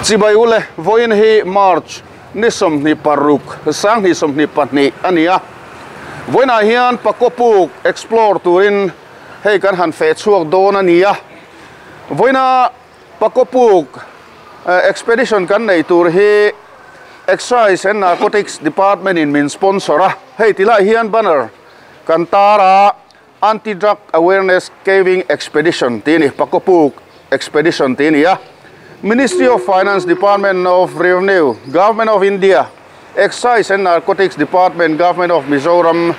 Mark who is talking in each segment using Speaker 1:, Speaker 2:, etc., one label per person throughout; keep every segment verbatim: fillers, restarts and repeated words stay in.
Speaker 1: Chibai ule voin hi March ni sawmhnih paruk sanghnih sawmhnih pahnih ania voinah hian Pakopuk explore turin hei kan han fe chhuak dawn ania voina Pakopuk expedition kan nei tur hi Excise and Narcotics Department in min sponsor a hei tilai hian banner kan tara anti-drug awareness caving expedition tini Pakopuk expedition tini a Ministry of Finance, Department of Revenue, Government of India, Excise and Narcotics Department, Government of Mizoram,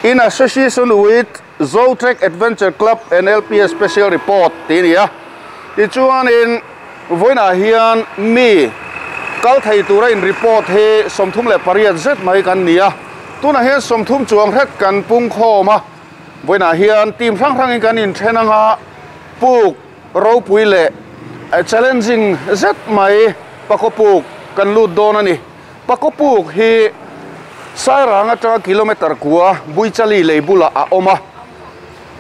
Speaker 1: in association with Zotrek Adventure Club and L P S Special Report tinia. Tichuan in voina hian mi kal thei tura in report he somthum le pariat zet mai kan nia. Tuna hian somthum chuang hret kan pung khoma. Voina hian team hrang hrang in kan in thenanga puk ropui le challenging zet mai Pakopuk kan lut dawn ani. Pakopuk hi Sairang atanga kilometer kua Buichali leibula a awma.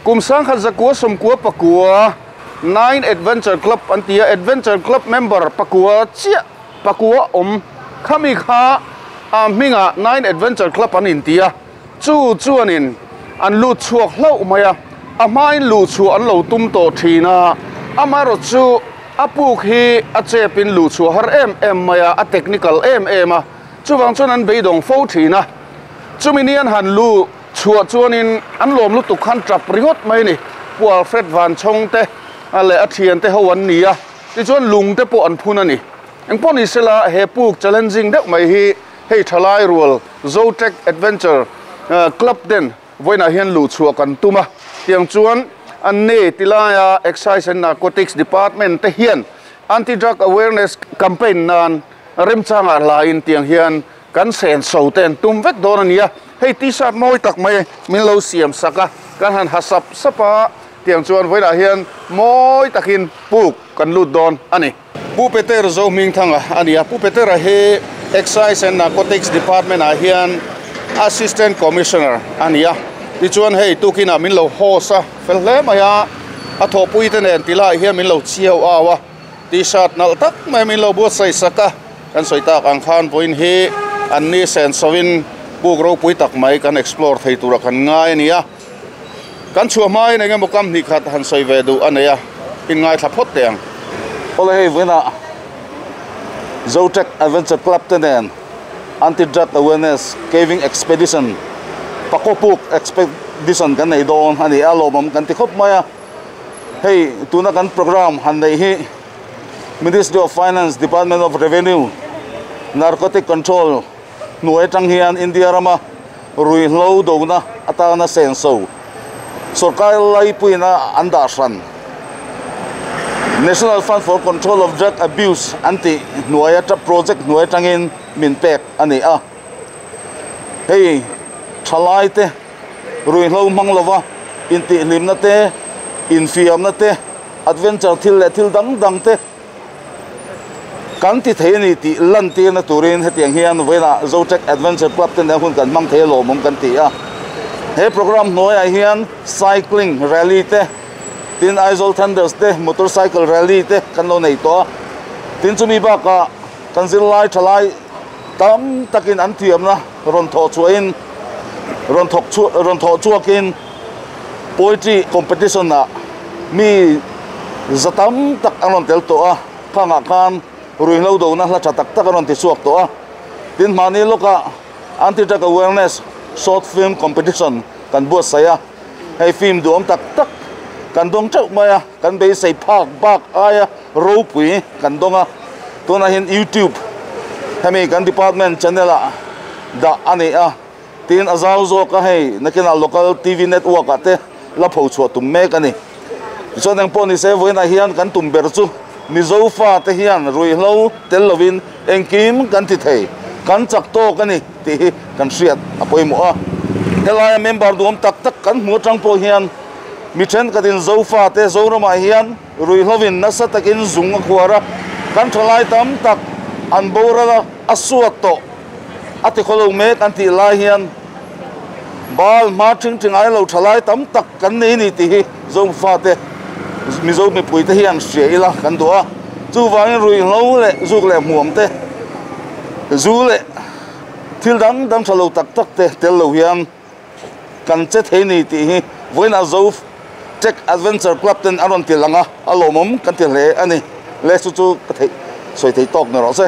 Speaker 1: Kum sangkhat zakua sawmkua pakua Nine Adventure Club antia Adventure Club member pakua chia pakua om khami kha a hminga Nine Adventure Club an intia chu chuanin an lut chhuak hlo maia a hmain lu chu an lo tum to thina amaro chu apuk hi a chepin lu chu har em em maya a technical em em a chuwang chuan an beidong fo thina chuminian han lu chua chuanin an lom lu tuk khan trap ringot mai ni pual Fred Van Chong te ale a thian te ho an nia ti chuan lung te pawh an phun ani engpawh ni sela he puk challenging deuh mai hi hei thalai rual Zotrek Adventure Club den voina hian lu chua kan tuma tiang chuan an ne tilaya Excise and Narcotics Department te hian anti-drug awareness campaign nan remchanga lain tiang hian kan sen so ten tum vek dawn ania hei t-shirt mawi tak mai min lo siam saka kan han hasap sapa tiang chuan voina hian mawi takin puk kan lut dawn ani. Pu Peter zo ming thanga ania Pu Peter a he Excise and Narcotics Department a hian Assistant Commissioner ania ti chuan hei tukina min lo hosa fel hle maia a thawpui te nen tilai hian min lo chiao awa t-shirt nal tak mai min lo buat sai saka kan sawi tak ang khan voin hi an ni sen sawin puk ropui tak mai kan explore thei tura kan ngai ania kan chhuah hmain engemaw kam hnih khat han sawi ve duh ania in ngai thla phawt teh ang.
Speaker 2: Ole hei voina Zotrek Adventure Club te nen anti-drug awareness caving expedition Pakopuk expedition kan nei dawn ani a lawmawm kan ti khawp mai a hei tuna kan program han nei hi Ministry of Finance, Department of Revenue, Narcotic Control hnuai atang hian India rama rui hlo dona atana sen so sarkar laipuina an dah hran National Fund for Control of Drug Abuse anti hnuai ata project hnuai atangin min pek ani a hei thalai te rui hlo mang lova inti hlimna te infiamna te adventure thil le thil dang dang te kan ti thei ani ti lan tir na turin hetiang hian voina Zotrek Adventure Club te nen hun kan mang thei lawmawm kan ti a he program hnuaiah hian cycling rally te tin Aizawl Thunders te motorcycle rally te kan lo nei tawh a tin chumi bakah kan zirlai thalai tam takin an thiamna rawn thawh chhuahin rawn thawk chu rawn thawh chhuakin poetry competition ah mi zatam tak an rawn tel tawh a khangah khan rui hlo dona hla tha tak tak an rawn ti chhuak tawh a tin mahni lawkah anti-drug awareness short film competition kan buat sai a hei film duam tak tak kan dawng teuh mai a kan beisei phak bak aia ropui kan dawng a tunah hian YouTube hemi kan department channel ah dah ani a tin a zau zawk a hei nakinah local T V network ah te la pho chhuah tum mek ani tichuan engpawh ni se vawiinah hian kan tum ber chu Mizo fa te hian rui hlo tel lovin engkim kan ti thei kan chak tawk ani tih hi kan hriat a pawimawh a helaia member duam tak tak kan hmu atang pawh hian mi thenkhatin Zofa te Zoramah hian rui hlovin nasa takin zung a khuar a kan thalai tam tak an boral a suat tawh a ti khawlo mek an tih lai hian bal hma thing thing ai lo thalai tam tak kan nei ni tih hi Zofa te Mizo mipui te hian hria ila kan duh a Chu wangin rui lo le zuk le muam te zu le thil dang dang thalo tak tak te tel lo hian kan che thei ni ti hi voina zo Tech Adventure Club ten aron ti langa alomom kan ti hle ani le chu chu ka thei soi thei tok na ro se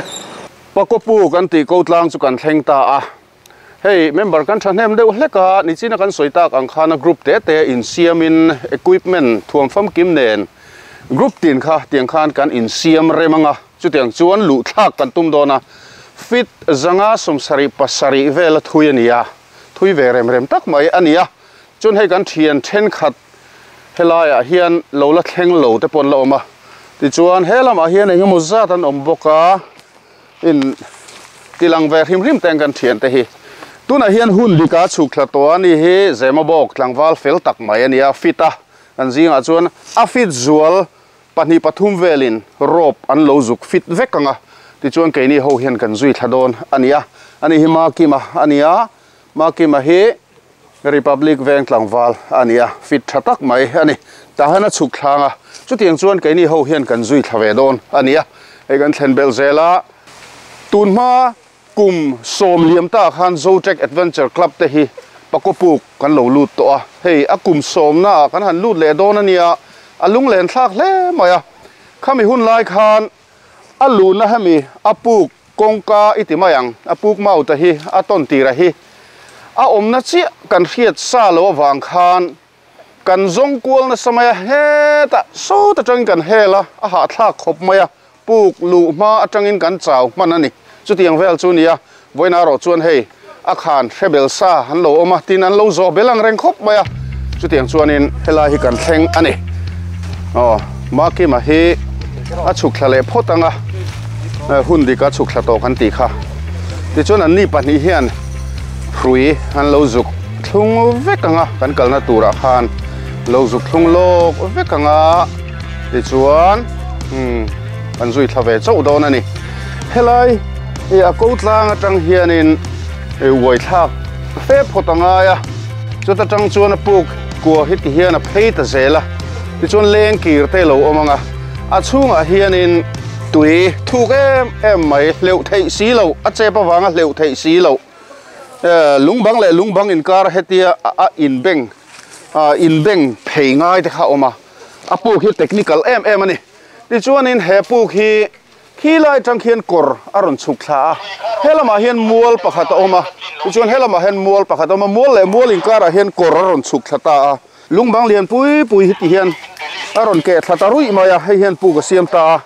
Speaker 1: pakopu kan ti ko tlang chu kan thleng ta a hei member kan thahnem deuh hleka nichina kan soitak ang khana group te te in siamin equipment thuam fam kim nen group tin kha tiang khan kan in siam remanga chutiang chuan lu thlak kan tum dona fit zanga somsari pasari vel thui ania thui ve rem rem tak mai ania chun hei kan thian then khat helaya hian lola thleng lo te pon la oma ti chuan helama hian engemaw zat an awm bawka in tilang ve hrim hrim teng kan thian te hi tuna hian hun dika chhuk thla to ani hi zema bawk tlangval fel tak mai ania fita an zinga chuan a fit zual pahnih pathum velin rope an lo zuk fit vek anga ti chuan keini ho hian kan zui thla dawn ania ani hi ma kima ania ma kima hi Republic veng tlangval ania fit tha tak mai ani tahana chhuk thlanga chutiang chuan keini ho hian kan zui thla ve dawn ania hei kan thlen bel zela tunma kum som liam ta khan Zotech Adventure Club te hi pakopuk kan lo lut to a hei a kum som na kan han lut le dawn ania alung len thlak hle mai a khami hun lai khan alu na hemi apuk kongka iti mayang apuk mau ta hi a ton tira hi a omna chi kan hriat sa lo awang khan kan zong kual na samaya heta so ta tang kan hela a ha thlak khop maya puk lu ma atangin kan chaw man ani chutiang vel chu nia voina ro chuan hei a khan rebel sa han lo oma tin an lo zo belang reng khop maya chutiang chuanin helai hi kan thleng ani oh ma ki ma hi a chhuk thla le phot anga hun dika chhuk thla to kan ti kha ti chuan an ni pahnih hian hrui an lo zuk thlung vek anga kan kalna tura khan lo zuk thlung lok vek anga ti chuan um an zui thla ve chauh dawn ani helai e a ko tlang atang hianin e uai thlak fe phot anga ya chuta tang chuan a puk kua hi ti hian a phei ta zela ti chuan leng kir te lo awm anga a chhungah hianin tui thuk em em mai hleuh theih si lo a chep awanga hleuh theih si lo lungbang leh lungbang inkar hetia a inbeng a inbeng phei ngai te kha awm a a puk hi technical em em ani ti chuanin he puk hi khi lai tang khian kawr a rawn chhuk thla a helamah hian mual pakhat a awm a ti chuan helamah hian mual pakhat a awm a mual leh mual inkarah hian kawr a rawn chhuk thla ta a lungbang lian pui pui hi ti hian a rawn keh thla ta ruih mai a hei hian puk a siam ta a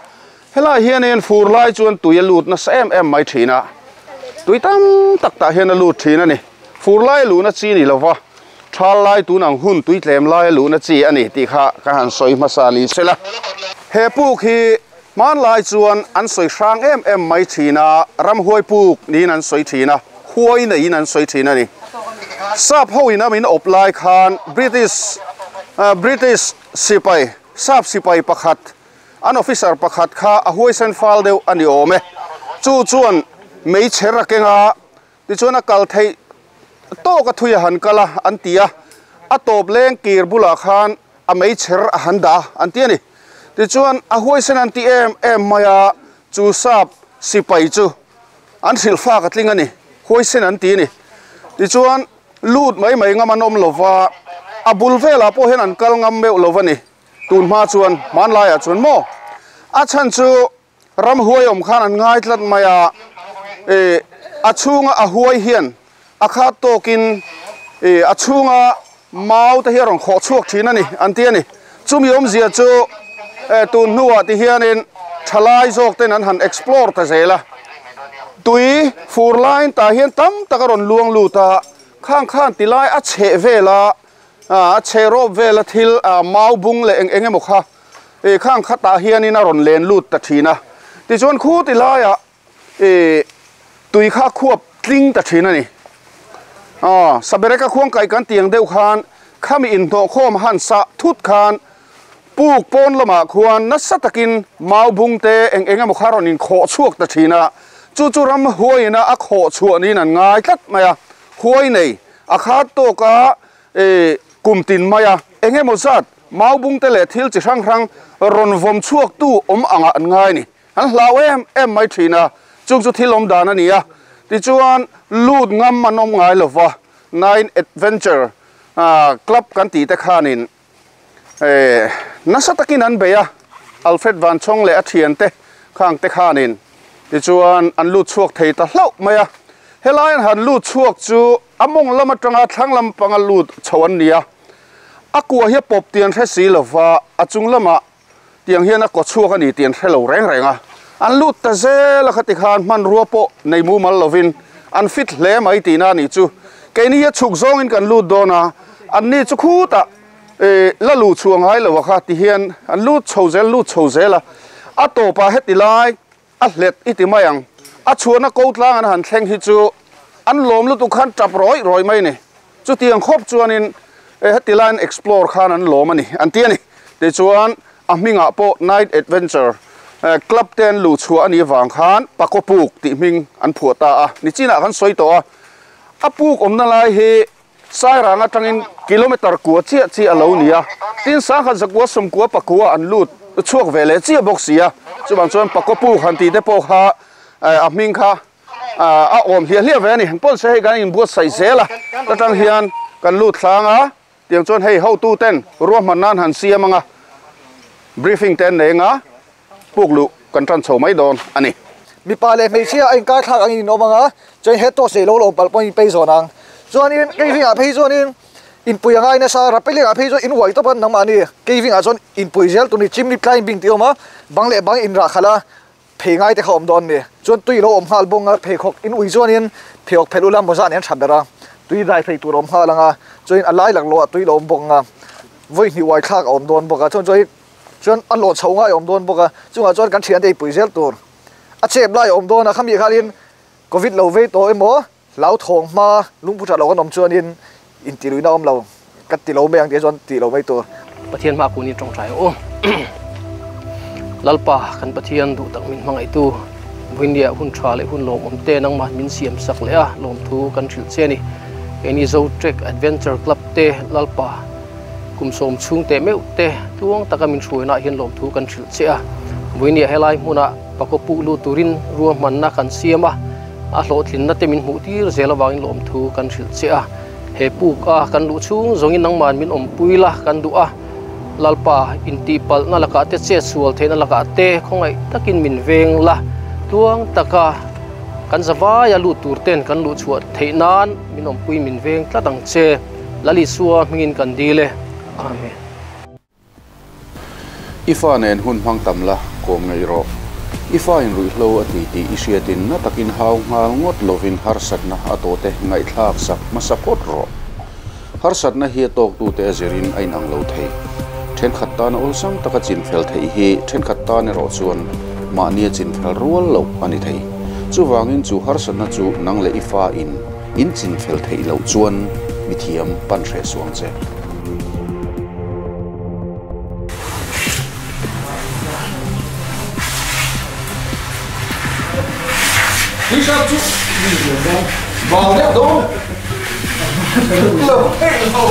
Speaker 1: helai hianin fur lai chuan tui a lut nasa em em mai thin a tui tam tak tah hian a lut thin ani fur lai luna chi ni lova thal lai tunang hun tui tlem lai luna chi ani ti kha ka han soi hmasa ni sela he puk hi man lai chuan an soi hrang em em mai thina ram huai puk niin an soi thina huai nei in an soi thina ni sap ho in amin op lai khan British uh, British sipai sap sipai pakhat an officer pakhat kha a huai sen fal deuh ani awm e chu chuan mei chher a kenga ti chuan a kal thei to ka thui a han kala an tia a tawp leng kir bulah khan a mei chher a han da an ti ani ti chuan a huai sen an ti em em maia chu sap sipai chu an hril fa ka tling ani huai sen an ti ni ti chuan lut mai mai ngam an awm lova a bul velah pawh hian an kal ngam meuh lo ani tun hma chuan hmanlaiah chuan maw a chhan chu ram huai awm khan an ngai tlat maia e a chhunga a huai hian a khat tawkin e a chhunga mau te hi a rawn khawh chhuak thin ani an ti ani chumi awmzia chu e tun hnuah ti hianin thalai zawk ten an han explore ta zela tui fur line tah hian tam tak a rawn luang lut a khang khan ti lai a chheh vela a chhe rawp vela thil a mau bung leh eng eng emaw kha e khang khatah hianin a rawn len lut ta thin a tichuan khu ti laiah e tui kha khuap tling ta thin ani ah sabereka khuang kai kan tiang deuh khan khami in hnawh khawm han sa thut khan puk pawn lamah khuan nasa takin mau bung te eng eng emaw kha rawn in khawh chhuak ta thin a chu chu ram huaina a khawh chhuah niin an ngai tlat mai a huai nei a khat tawka e kum tin maia eng emaw zat Mau bung te le thil chi hrang hrang ron vom chuak tu om anga an ngai ni an hlau em em mai thina chung chu thil om dan ani a ti chuan lut ngam man om ngai lova nine adventure a club kan ti te khanin e nasa takin an beya Alfred Van Chong le a thian te khang te khanin ti chuan an lut chuak thei ta hlau mai a helai an han lut chuak chu among lama tanga thlang lam panga lut chawan nia akua hi pop tian hre si lova achung lama tiang hian a ko chuak ani tian hrelo reng renga an lut ta zel a khati khan man ruwa po nei mu mal lovin an fit hle mai ti na ni chu keini hi chuk zawng in kan lut dawna an ni chu khuta e la lu chuang hai lo kha ti hian an lut chho zel lut chho zela a topa heti lai a hlet iti mayang a chuana ko tlang an han thleng hi chu an lom lu tu khan tap roi roi mai ni chu tiang khop chuanin e heti line explore khan an lom ani an ti ani ti chuan a hminga po night adventure club ten lu chu ani wang khan pakopuk ti hming an phuata a ni china kan soi to a apuk omna lai hi sairang atangin kilometer kuwa chia chi alo nia tin sa kha zakwa som kuwa pakua an lut chuak vele chia box sia chuwang chuan pakopuk han ti te po kha a hming kha a om hia hlia ve ani pon se hei kan in buat sai zela tatang hian kan lut thlanga tiang chuan hei ho tu ten ruah man nan han siamanga briefing ten nenga puklu kan tran chho mai don ani
Speaker 3: mi pa le mei chia in ka thak ang in omanga chuan he to se lo lo pal pon pe zonang chuan in caving a phei chuan in in pui angai na sa rappelling a phei chuan in uai topan nang mani caving a chuan in pui zel tuni chimney climbing ti oma bang le bang in ra khala phei ngai te khom don ni chuan tui lo om hal bonga phei khok in ui chuan in pheok phelula moza nen thabera tui dai phei tur om halanga chuan alai lak lo tui lo om bonga voi ni wai thak om don boka chuan chuan chuan an lo chho ngai om don boka chunga chuan kan thian te pui zel tur a chep lai om don a khami khalin covid lo ve to emo lau thong ma lungpu tha lo kan om chuan in in ti lui na om lo kat ti lo meng te chuan ti lo mai tur
Speaker 4: pathian ma ku ni tong thai o lalpa kan pathian du tak min mangai tu buindia hun tha le hun lom om te nang ma min siam sak le a lom thu kan thil che ni eni zo trek adventure club te lalpa kumsom chung te meu te tuang taka min hruina hian lom thu kan thil che a buinia helai hmuna pakopu lu turin ruah manna kan siama a hlawhtlin na te min hmuh tir zel awangin lom thu kan thil che a he puk a kan lu chung zawngin nangman min awm pui la kan du a lalpa inti pal na laka te che sual theina laka te khawngai takin min veng la tuang taka kan zawai a lu tur ten kan lu chhuah theinan min awm pui min veng tlatang che lali suwa hmingin kan dile amen.
Speaker 1: Ifa nen hun hmang tam la kom ngei ro ifa in rui hlo ati ti isiatin na takin hau ngal ngot lovin harsat na atote ngai thlak sak masapot ro harsat na hi tok tu te zerin ain ang lo thei then khat ta na olsam taka chin fel thei hi then khat ta ne ro chuan ma nia chin fel rual lo ani thei chuwangin chu harsat na chu nang le ifa in in chin fel thei lo chuan mithiam pan hre suang che.
Speaker 5: Đi sao chú vào đeo đâu lẩu lẩu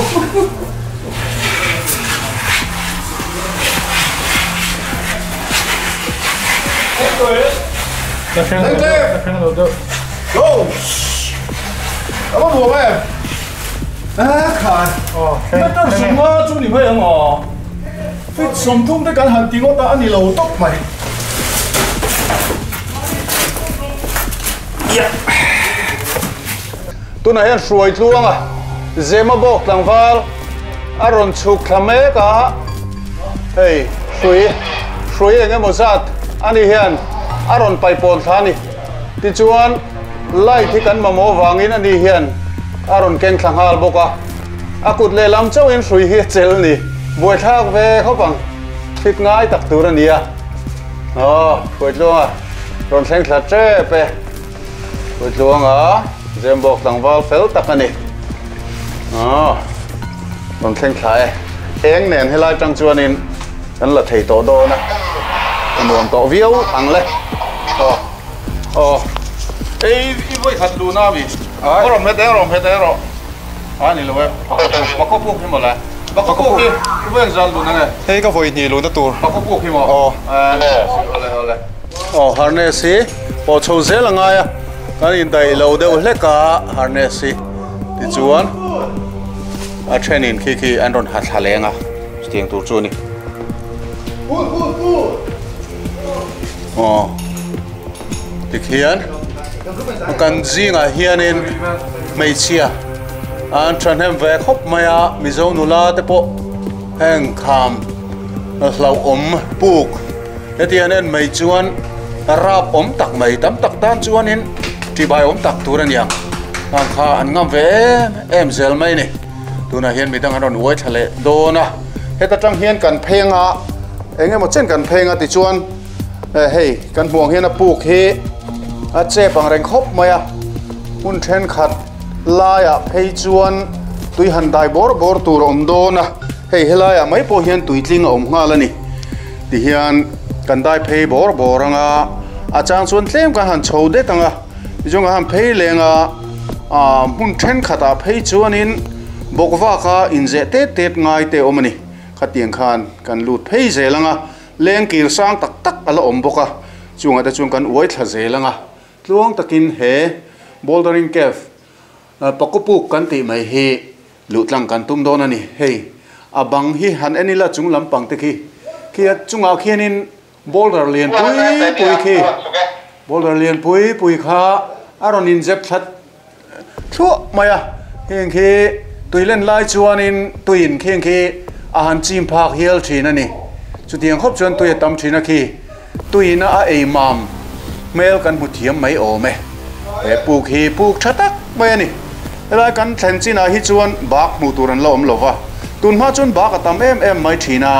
Speaker 5: lên lên go cảm ơn bộ em à khai那当什么做女朋友哦？你上通得紧限电我打你老督咪。
Speaker 1: Tuna hian hruai tluanga zema bawk tlangval a rawn chhuk thla mek a hei hrui hrui eng emaw zat ani hian a rawn paipawn thla ani tichuan light hi kan mamawh wangin ani hian a rawn keng thla nghal bawk a a kut lehlam chauhin hrui hi a chel ni buai thlak ve khawp ang thit ngai tak tur ani a aw hruai tluanga rawn thleng thla tep e hruai tluanga zembok tlangval fel tak ani aw rawn thleng thla e eng nen helai tang chuanin kan la thei tawh dawn a nuam tawh viau ang le aw aw ei i voi khat lu na mi rom het rom het ro ani lo e pakopuk hi mawla Pakopuk hi veng zal lu na nge
Speaker 6: hei ka voi ni lu na tur
Speaker 1: pakopuk hi mo
Speaker 6: oh
Speaker 1: ole ole oh harness hi po chho zel anga ya kan in dai lo deuh hleka harness hi ti chuan a thenin khi khi an ron ha thlalenga tiang tur chu ni oh ti khian kan zinga hianin hmeichhia an thahnem ve khawp mai a mizo nula te pawh heng kham hlau awm puk hetiang en mai chuan rap awm tak mai tam tak tan chuanin tibai awm tak tur aniang ang kha an ngam ve em em zel mai ni tunah hian midang an rawn uai thla leh dawn a heta tang hian kan phenga engemaw chen kan phenga ti chuan hei kan hmuang hian a puk hi a chep ang reng khawp mai a hun thenkhat laia phei chuan tui han dai bor bor tur awm dawn a hei helaiah mai pawh hian tui tling a awm nghal ani ti hian kan dai phei bor bor anga a chang chuan tlem kan han chho det anga tichuan han phei lenga a hmun thenkhatah phei chuanin bawkvaka inzeh tet tet ngai te awm ani khatiang khan kan lut phei zel anga leng kir sang tak tak ala awm bawk a chungah te chuan kan uai thla zel anga tluang takin he bouldering cave pakopuk kan tih mai hi luhtlang kan tum dawn ani hei a bang hi han enila chung lampang te khi khi a chungah khianin boulder lian pui pui khi boulder lian pui pui kha a rawn inzep thlat thluah mai a heng khi tuilen lai chuanin tuiin kheng khi a han chim phak hial thin ani chutiang khawp chuan tui a tam thin a khi tuina a ei mam hmel kan hmu thiam mai awm e he puk hi puk tha tak mai ani helai kan thlen chinah hi chuan bak hmuh tur an la awm lova tun hma chuan bak a tam em em mai thin a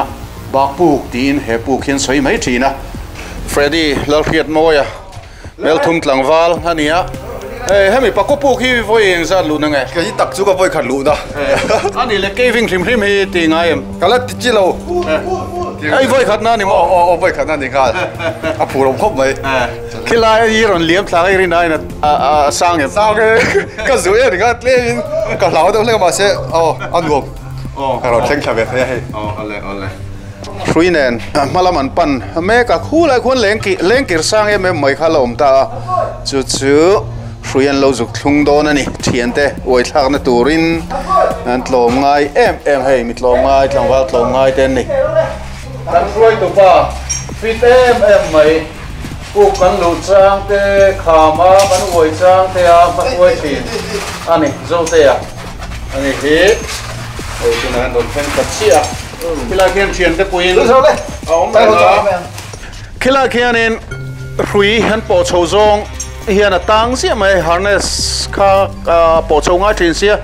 Speaker 1: bak puk tiin he puk hian sawi mai thin a Freddy Lalhriat Mawia Melthum tlangval ania hei hemi pakopuk hi voi eng zat lu na nge
Speaker 6: ka hi tak chu ka voi khat lu na
Speaker 1: ani le caving hrim hrim hi ti ngai em
Speaker 6: kala ti chi lo
Speaker 1: ai voi khat na ni mo
Speaker 6: o o voi khat na ni ngal a phu rom khop mai
Speaker 1: khilai i ron liam thla ai rin ai na a sang em
Speaker 6: sang ka zu e ringa tle in ka hlau deuh hlek ma se o an nuam
Speaker 1: o
Speaker 6: ka ron thleng thla ve thei hei
Speaker 1: o ale ale hruinen hmalam an pan mek a khulai khuan leng ki leng kir sang em em mai kha la awm ta a chu chu hruian lo zuk thlung dawn ani thian te uai thlak na turin an tlawm ngai em em hei mi tlawm ngai tlangval tlawm ngai ten ni kan hruai tu pa fit em em mai puk kan lu chang te khama kan uai chang te a hma uai thin ani zo te a ani hi oi tuna an don thleng ta chia khilai khian thian te puin a awm reng a khilai khianin hrui han pawh chho zawng hian a tang ziah mai harness kha pawh chho ngai thin sia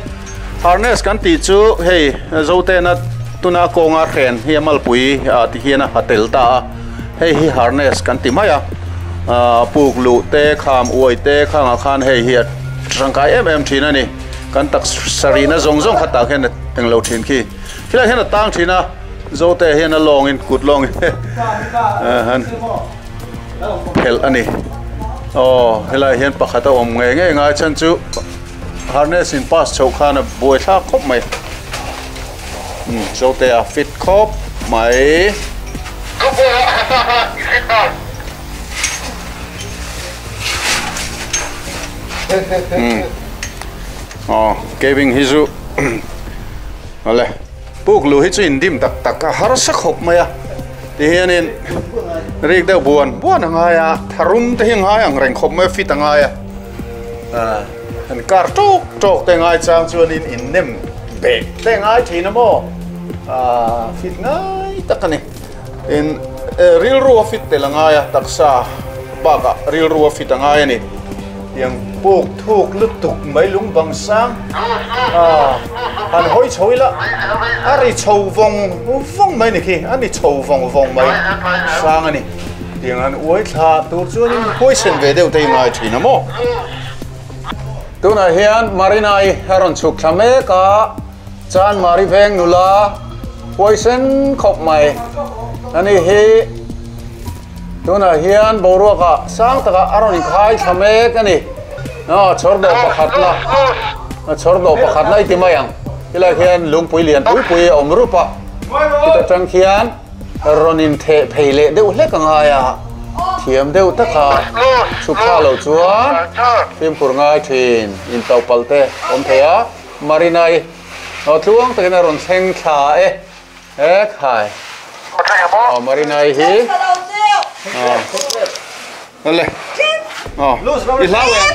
Speaker 1: harness kan tih chu hei zote na tuna kawnga hren hi a malpui ti hian a hatel ta a hei hi harness kan ti mai a puk lu te kham uai te khangah khan hei hi a tangkai em em thin ani kan tak sarina zawng zawng kha tah hian englo thin khi khilai hian a tang thin a zote hian a lawngin kut lawngin han phelh ani oh helai hian pakhat a awm nge nge ngai chan chu harness in pass chho khan a buai thlak khawp mai um zote a fit khawp mai um oh caving hi chu ale puk lu hi chu in dim tak tak a har sa khawp mai a ti hianin rik deuh buan buan angai a tharum te hi ngai ang reng khawp mai fit angai a an kar tok tok te ngai chang chuanin in nem bek te ngai thin a maw a fit ngai tak ani in ril ru a fit tel angai a taksa baka ril ru a fit angai ani tiang puk thuk lutuk mai lung bang sang a han hoi chhoi la a ri chho vong vong mai ni khi ani chho vong vong mai sang ani tiang an uai thla tur chuanin poison ve deuh te ngai thin a maw tunah hian marinai a rawn chhuk thla mek a chan mari veng nula poison khawp mai ani hi tunah hian boruaka sang taka a rawn inkhai thla mek ani a chhawr dawh pakhat la a chhawr dawh pakhat lai ti mai ang Tilai hian lungpui lian pui pui a awm rup a chutah atang khian rawn in theh phei leh deuh hlek ang aia thiam deuh taka chhuk thla lo chuan fimkhur ngai thin in to pal te awm thei a Marinai aw tluang takin a rawn thleng thla e e khai aw Marinai hi ale oh i hlau em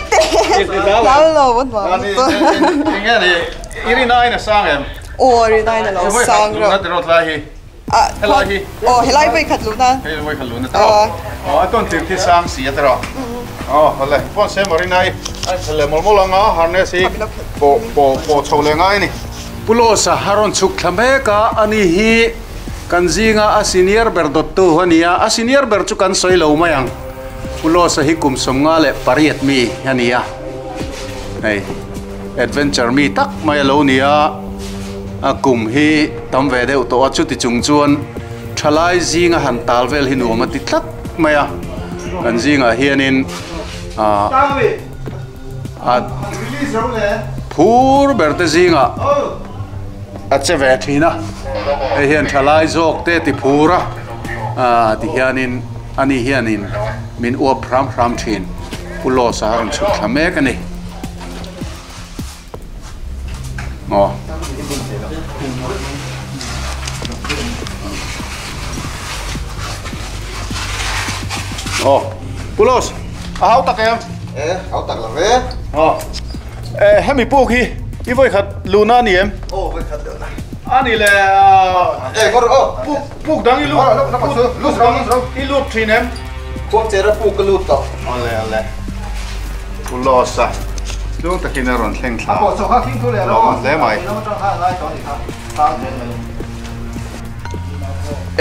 Speaker 1: i hlau
Speaker 7: Hlau lo vẫn mà
Speaker 1: nge ni irinai na sang em
Speaker 7: ô irinai na lo sang
Speaker 1: rồi na rot lai hi
Speaker 7: à
Speaker 1: helai hi
Speaker 7: ô helai voi khat lu na
Speaker 1: hei voi khat lu na tro oh aton tir thi sang si atro oh ale pon se Marinai ai le mol mol anga harness hi po po po chho le ngai ni pulosa haron chuk thlame ka ani hi kanzinga a senior ber dot tu hania a senior ber chu kan soi lo mayang pulosa hi kum somnga le pariat mi hania hei adventure mi tak mai lo nia a kum hi tam ve deuh to a chu ti chung chuan thalai zinga han tal vel hi nuam ati tlat mai a kan zinga hianin a a phur berte zinga a che ve thina hei hian thalai zawk te ti phura a ti hianin ani hianin min uap ram ram thin pulosa haron chuk thlamek ani oh oh pulos a hau tak em
Speaker 6: e hau tak la ve
Speaker 1: oh eh hemi puk hi i voi khat luna ni em
Speaker 6: oh voi khat luna
Speaker 1: ani le
Speaker 6: e gor oh
Speaker 1: puk puk dang i lu
Speaker 6: lu lu
Speaker 1: i lu thin em
Speaker 6: khuang chera puk ka lut to
Speaker 1: ale ale pulosa lung takin a rawn thleng thla
Speaker 3: a pawh kha khing thu le
Speaker 1: lo hle mai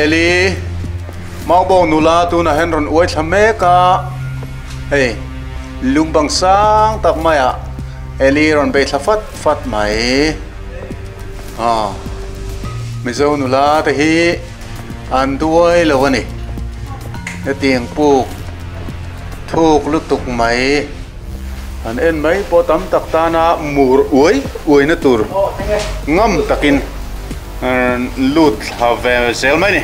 Speaker 1: Eli maubong nula tuna hen rawn uai thla mek a hei lungbang sang tak mai a Eli rawn bei thla fat fat mai a Mizo nula te hi an duai lo ani hetiang puk thuk lutuk mai an en mai pawh tam tak tana mur uai uai na tur ngam takin lut thla ve zel mai ni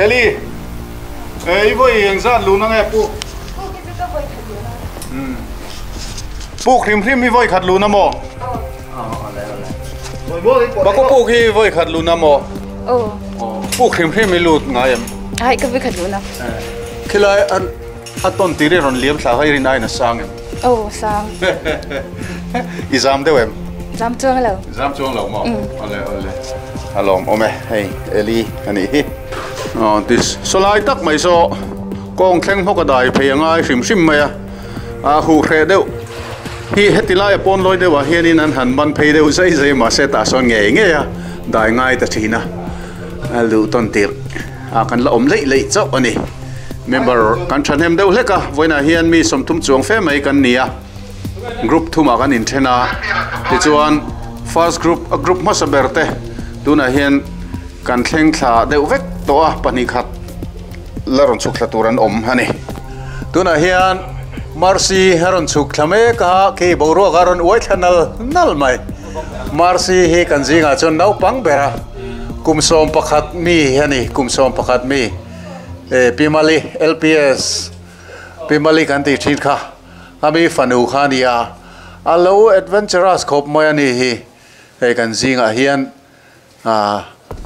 Speaker 1: Eli ei voi ang zat lu na nge pu puk hrim hrim hi voi khat lu na maw ba ko puk hi voi khat lu na maw puk hrim hrim hi lut ngai em
Speaker 8: ai ka voi khat lu na
Speaker 1: khilai an aton tiri ron liam thla hai rin ai na sang em
Speaker 8: oh sang
Speaker 1: i zam deuh em
Speaker 8: zam chuang lo
Speaker 1: zam chuang lo maw ale ale alom ome hei Eli ani hi oh this solai tak mai so kong thleng hawk a dai phei angai hrim hrim mai a a hu hre deuh hi hetilai a pawn loi deuh ah hianin an han ban phei deuh zai zai ma se tah sawn ngei ngei a dai ngai ta thina a lu ton tir a kan la awm leih leih chauh ani member kan thanem deuh hlek a vawiinah hian mi sawmthum chuang fe mai kan ni a group thumah kan inthen a tichuan first group a group hmasa ber te tunah hian kan thleng thla deuh vek tawh a pahnih khat la rawn chhuk thla tur an awm ani tunah hian Marcy a rawn chhuk thla mek a khi boruak a rawn uai thla nal nal mai Marcy hi kan zingah chuan naupang ber a kum sawm pakhat mi ani kum sawm pakhat mi e Pimali L P S Pimali kan ti thin kha ami fanu kha nia alo adventurous khop mai ani hi hei kan zingah hian a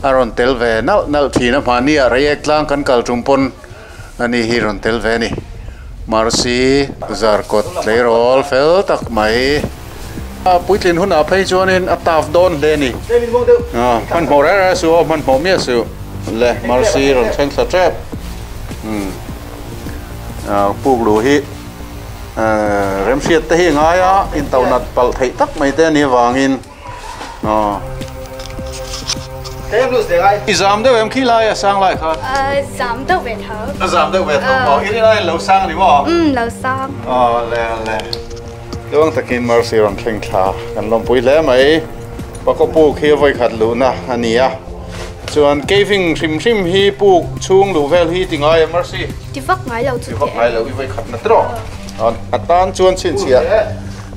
Speaker 1: aron tel ve nal nal thina mani a reiek tlang kan kal tum pon ani hi ron tel ve ni Marcy zarkot tleirol fel tak mai a puitlin hun a phei chuanin a taf dawn hle ni a man hmu reng reng su man hmu miah su le Marcy rawn thleng thla tep um a puk lu hi remhriat te hi ngai a in to nat pal thei tak mai te ani wangin a i zam deuh em khi lai a sang lai kha
Speaker 8: ờ zam deuh ve tho
Speaker 1: a zam deuh ve tho maw i lai lo sang ni maw
Speaker 8: um lo sang
Speaker 1: ờ le le luang takin Marcy rawn thleng thla kan lawmpui hle mai pako puk hi voi khat lu na ani a chuan caving hrim hrim hi puk chhung lu vel hi ti ngai a Marcy
Speaker 8: ti vak ngai lo chu
Speaker 1: ti vak ngai lo i voi khat na tro a tan chuan chin chhia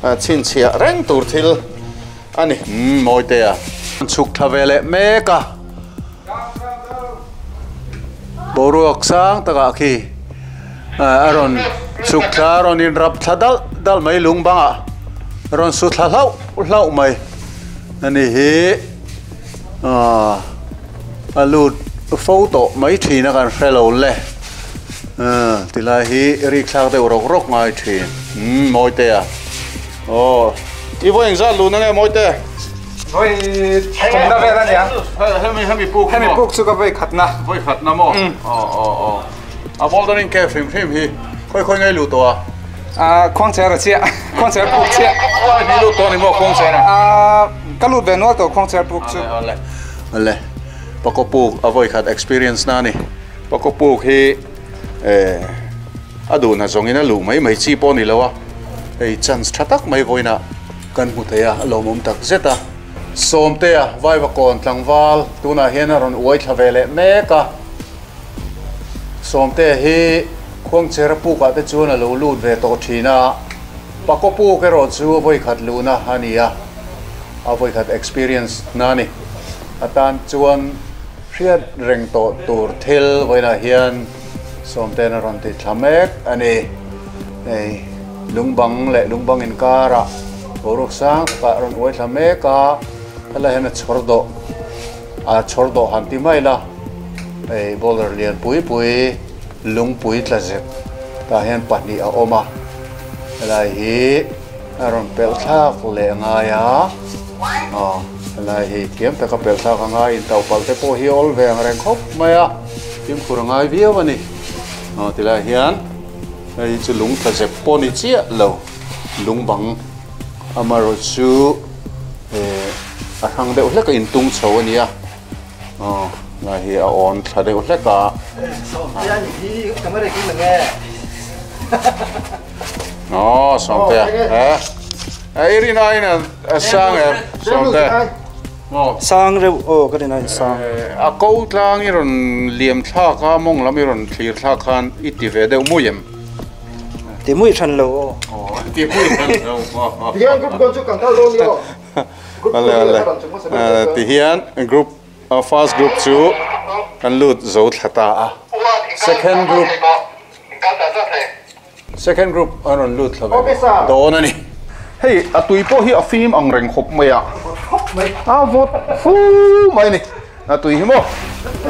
Speaker 1: a chin chhia reng tur thil Ani moi te a chuk thavele meka boruak sang taka khi aron chuk thla ron in rap thla dal dal mai lung banga ron su thla hlau hlau mai ani hi a alut photo mai thina kan hrelo le tilai hi ri thlak deuh rok rok ngai thin moi te a o i voi za lu na nge moi te
Speaker 9: voi thong da ve da nia
Speaker 1: hemi hemi puk
Speaker 9: hemi puk chu ka voi khat na
Speaker 1: voi khat na mo o o o a bouldering ke phim phim hi khoi khoi ngai lu to a
Speaker 9: a khong che ra chia khong che puk chia
Speaker 1: ni lu to ni mo khong che na
Speaker 9: a ka lu ve no to khong che puk chu
Speaker 1: ale ale pakopuk a voi khat experience na ni pakopuk hi eh adu na zongina lu mai mai chi pawh ni lo a hei chance tha tak mai voina kan hmu theia a lawmawm tak zet a sawmte a vaiva kawn tlangval tunah hian a rawn uai thla ve leh mek a sawmte hi khuangcher pukah te chuan a lo lut ve tawh thin a pakopuk erawh chu a vawi khat luhna a ni a a vawi khat experience na ni atan chuan hriat reng tawh tur thil vawiinah hian sawmte na rawn ti thla mek ani hei lungbang leh lungbang inkara boruak sang takah rawn uai thla mek a helai hian a chhawr dawh a chhawr dawh han ti mai la hei boulder lian pui pui lungpui tla zep tah hian pahnih a awm a helai hi a rawn pelh thlak leh ngai a aw helai hi thiam taka pelh thlak a ngai in topal te pawh hi awl ve ang reng khawp mai a fimkhur a ngai viau a ni aw tilai hian hei chu lung tla zep pawh ni chiah lo lungbang amarawh chu eh a hrang deuh hlek a intung chho a ni a aw lai hi a awn thla deuh hlek a aw sawmte eh eh i rin aiin a sang em sawmte
Speaker 10: sang reuh aw ka rin aiin sang
Speaker 1: a ko tlang i rawn liam thlak a mawng lam i rawn thlir thlak khan i ti ve deuh mui em
Speaker 10: ti mui than lo aw
Speaker 1: ti mui than lo
Speaker 3: tihian group kon chu kan kal dawn ni aw
Speaker 1: ale ale ti hian group first group chu kan lut zo thla ta a second group second group an rawn lut thla ve dawn ani hei a tui pawh hi a fim ang reng khawp mai a a vawt fu mai ni a tui hi maw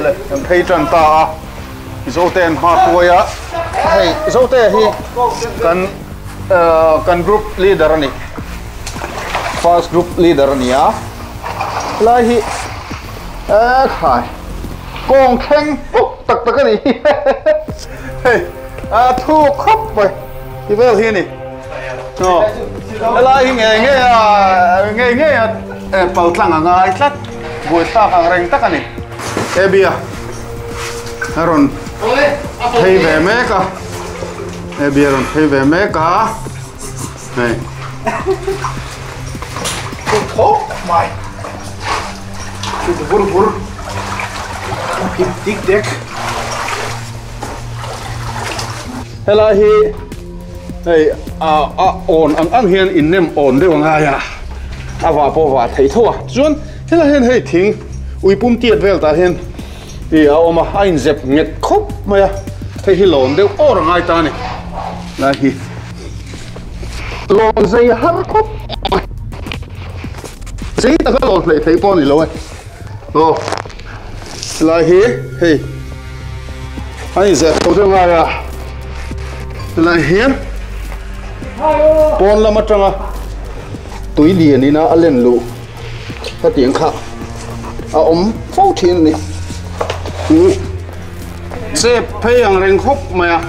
Speaker 1: le kan phei tan ta a zote an hma hruai a hei zote hi kan kan group leader ani first group leader ani a lai hi a khai kawng thleng puk tak tak ani hei a thu khawp mai ti vel hi ani no lai hi nge nge a nge nge a pal tlang a ngai tlat buai thlak ang reng tak ani ebia a rawn phei ve mek a ebia rawn phei ve mek a hei
Speaker 3: khawp mai bur bur tik dek
Speaker 1: helai hi hei a a on ang ang hian in nem on deuh ngai a a wa pawh wa thei tho a chuan helai hian hei thing uipum tiat vel tah hian i a awm a a inzep nget khawp mai a hei hi lawn deuh awr a ngai ta ani lai hi lawn zei har khawp zei taka lawn hlei thei pawh ani lo e aw lai hi hei a inzep tho deuh ngai a lai hian pawn lam atanga tui lian ina a len lu hetiang kha a awm fo thin ani chep phei ang reng khawp mai a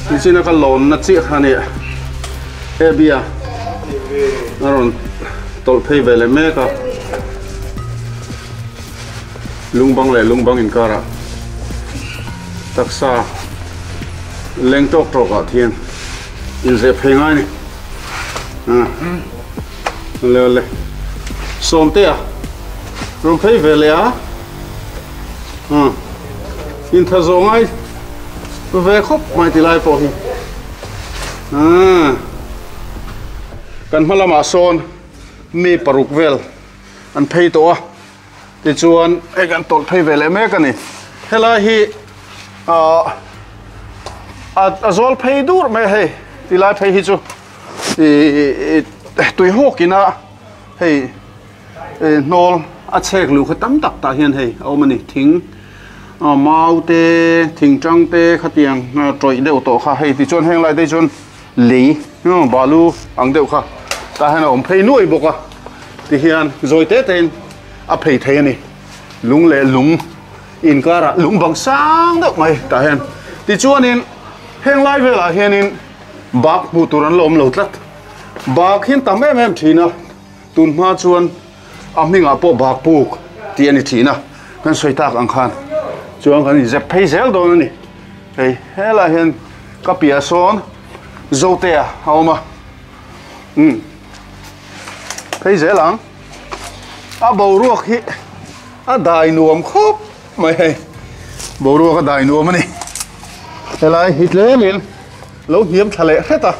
Speaker 1: tichina ka lawn na chiah kha ani ebia a rawn tawlh phei ve leh mek a lungbang leh lungbang inkara taksa leng tawk tawk ah thian inzep phei ngai ni le le sawmte a rawn phei ve leh a in tha zawh ngai ve khawp mai ti lai pawh hi kan hma lamah sawn Mi paruk vel an phei to a ti chuan hei kan tawlh phei ve leh mek ani helai hi ah a zawl phei dur mai hei tilai phei hi chu ih tui hawkina hei hnawl a chhek lu kha tam tak tah hian hei a awm ani thing mau te thing tang te khatiang tawih deuh tawh kha hei tichuan heng lai te chuan lei balu ang deuh kha tah hian a awm phei nuai bawk a ti hian zawi te tein a phei thei ani lung leh lung inkara lung bang sang deuh mai tah hian tichuanin heng lai velah hianin bak hmuh tur an la awm lo tlat bak hian tam em em thin a tun hma chuan a hmingah pawh bak puk tih ani thin a kan sawi tak ang khan chuan kan inzep phei zel dawn ani hei helai hian ka piah sawn zotea a awm a um phei zel ang a boruak hi a dai nuam khawp mai hei boruak a dai nuam ani helai hi tlemin lo hniam thla leh hret a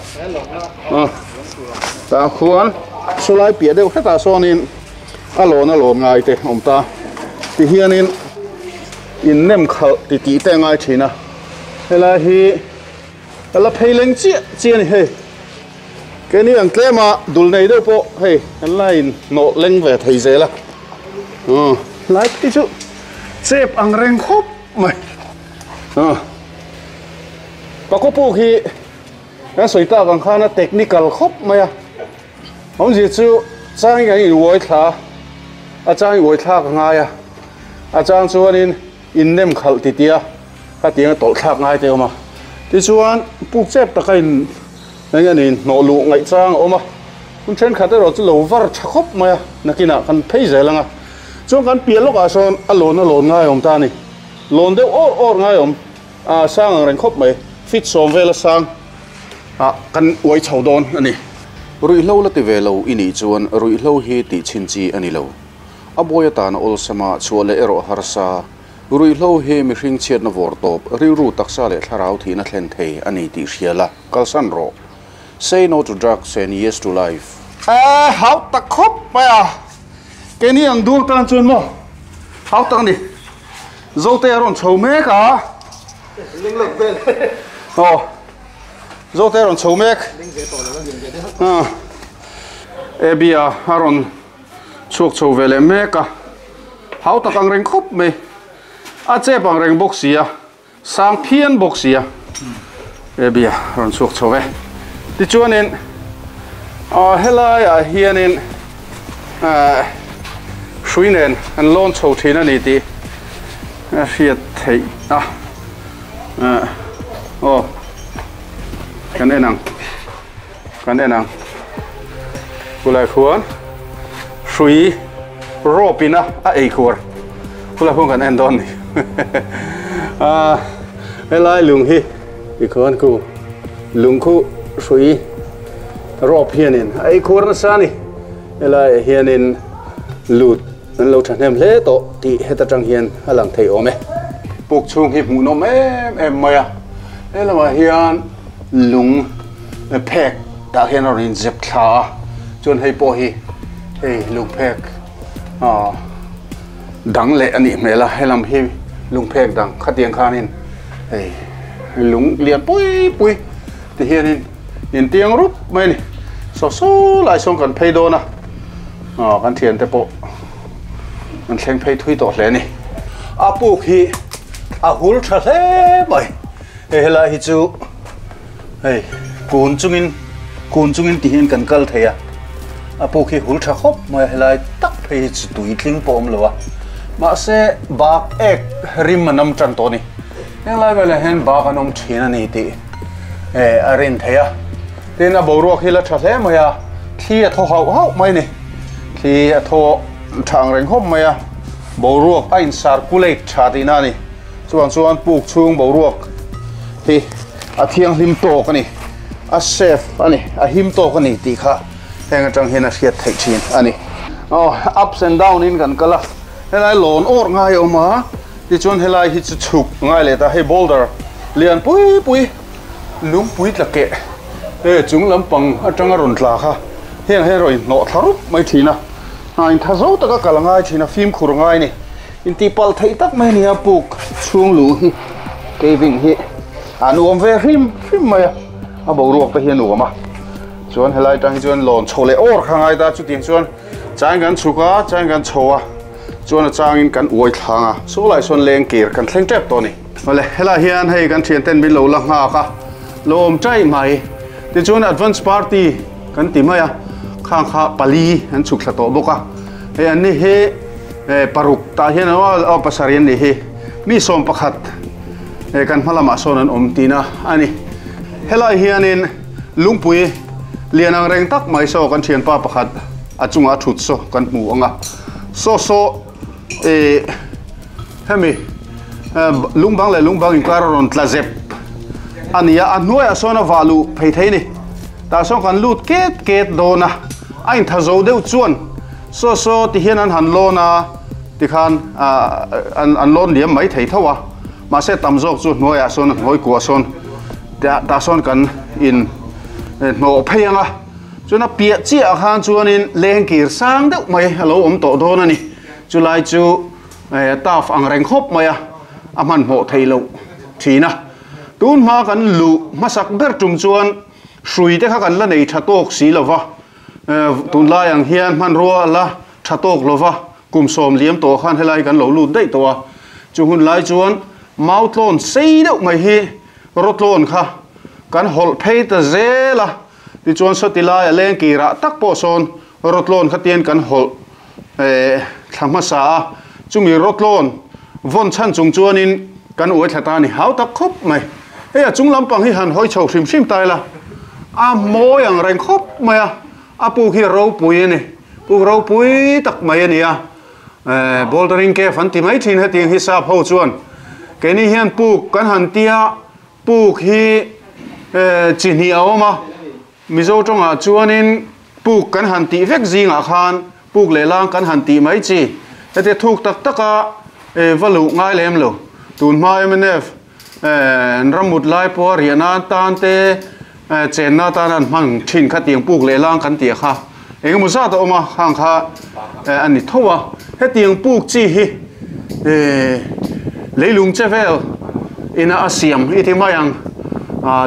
Speaker 1: tah khuan sawlai piah deuh hretah sawnin a lawn a lawn ngai te awm ta ti hianin in nem khalh ti tih te ngai thin a helai hi la phei leng chiah chiah ani hei keni ang tlema dul nei deuh pawh hei kan la in hnawh leng ve thei zel a lai phei chu chep ang reng khawp mai pakhaw puk hi kan sawi tak ang khan a technical khawp mai a awmzia chu chang kan in uai thla a chang in uai thlak a ngai a a chang chuanin in nem khalh ti tia khatiang a tawlh thlak ngai te awm a tichuan puk chep taka in eng ani hnawh luh ngaih chang a awm a hun thenkhat erawh chu lo var tha khawp mai a nakinah kan phei zel anga chuan kan piah lawkah sawn a lawn a lawn ngai awm ta ani lawn deuh awr awr ngai awm a sang ang reng khawp mai fit sawm vel a sang a kan uai chho dawn ani ruihhlo la ti ve lo i nih chuan ruihhlo hi tih chhin chi ani lo a bawi atan a awlsama chhuah leh erawh harsa ruihhlo hi mihring chhiatna vawr tawp rilru taksa leh thlarau thihna thlen thei ani tih hria la kalsan rawh say no to drugs and yes to life eh hau tak khawp mai a keni ang duang tan chuan maw hau tak ani zote a rawn chho mek a oh zote a rawn chho mek ah ebia a rawn chhuak chho ve leh mek a hau tak ang reng khawp mai a chep ang reng bawk si a sang phian bawk si a ebia rawn chhuak chho ve tichuanin ah helai ah hianin ah hrui nen an lawn chho thin ani tih a hriat theih a ah aw kan en ang kan en ang khulai khuan hrui rope ina a ei khur khulai khuan kan en dawn ni ah helai lung hi tikhuan ku lung khu hrui rope hianin a ei khur nasa ni helai hianin lut an lo thahnem hle tawh tih heta tang hian a lang thei awm e puk chhung hi hmuh nawm em em mai a helamah hian lung phek tah hian a rawn inzep thla a chuan hei pawh hi hei lung phek ah dang leh anih hmel a helam hi lung phek dang khatiang khanin hei lung lian pui pui ti hianin in tiang rup mai ani saw saw lai sawn kan phei dawn a ah kan thian te pawh an thleng phei thui tawh hle ani a puk hi a hul tha hle mai hei helai hi chu hei kun chungin kun chungin ti hian kan kal thei a a puk hi hul tha khawp mai helai tak phei hi chu tui tling pawh awm lo a mahse bak ek rim a nam tan tawh ani henglai velah hian bak an awm thin ani tih eh a rin thei a tin a boruak hi la tha hle mai a thli a thaw hauh hauh mai ni thli a thaw thang reng khawp mai a boruak a in circulate tha tihna ani chuan chuan puk chhung boruak hi a thianghlim tawk ani a safe ani a him tawk ani tih kha heng atang hian a hriat theih thin ani oh ups and down in kan kal a helai lawn awr ngai awm a tichuan helai hi chu chhuk ngai leh ta hei boulder lian pui pui lungpui tla keh he chung lampang atanga rawn tla kha Heng heng ro in no tharup mai thina a in thazo taka kalangai thina fim khur ngai ni in ti pal thei tak mai ni a puk chung lu hi caving hi an uam ve hrim hrim mai a a bo ruak te hian uam a chuan helai tang hi chuan lawn chho leh or kha ngai ta chu tiang chuan chang kan chhuka chang kan chhoa chuan a changin kan uai thlanga so lai sawn leng kir kan thleng tep to ni wale helai hian hei kan thian ten min lo la nga ka lom chai mai ti chuan advance party kan ti mai a khang kha pali an chuk thla to boka hei an ni he paruk ta hian a pasarian ni hi mi som pakhat kan hmalama sawn an awm tina ani helai hianin lungpui lianang reng tak mai so kan thian pa pakhat a chunga thut so kan hmu anga so so e hemi lungbang le lungbang in kar ron tlazep ania a hnuai a sawn a valu phei thei ni ta sawn kan lut ket ket dona a in thazo deuh chuan so so ti hian an han lona ti khan an an lon liam mai thei thawa ma se tam zawk chu hnuai a sawn hnuai kua sawn ta ta sawn kan in hno phei anga chuan a piah chiah khan chuanin leng kir sang deuh mai a lo awm tawh dawn ani chulai chu taf ang reng khawp mai a a hman hmawh thei lo thina tun hma kan lu hmasak ber tum chuan hrui te kha kan la nei tha tawk si lova tun lai ang hian hman rua la tha tawk lova kum sawm liam tawh khan helai kan lo lut daih tawh a chu hun lai chuan mau tlawn sei deuh mai hi rawtlawn kha kan hawlh phei ta zel a ti chuan sawti lai a leng kirah tak pawh sawn rawtlawn kha tian kan hawlh thla hmasa a chumi rawtlawn vawn chhan chung chuanin kan uai thla ta ni hau tak khawp mai hei a chung lampang hi han hawi chho hrim hrim tai la a mawi ang reng khawp mai a a puk hi ropui ani puk ropui tak mai ani a bouldering cave an ti mai thin hetiang hi sap ho chuan keini hian puk kan han tia puk hi chi hnih a awm a mizo tawngah chuanin puk kan han tih vek zingah khan puk leh lang kan han tih mai chi heti thuk tak taka valu ngai lem lo tun hma M N F ramut lai pawh riahna tan te chenna tan an hmang thin kha tiang puk leh lang kan tih kha engemaw zat a awm a khang kha ani tho a hetiang puk chi hi leilung che vel ina a siam i ti mai ang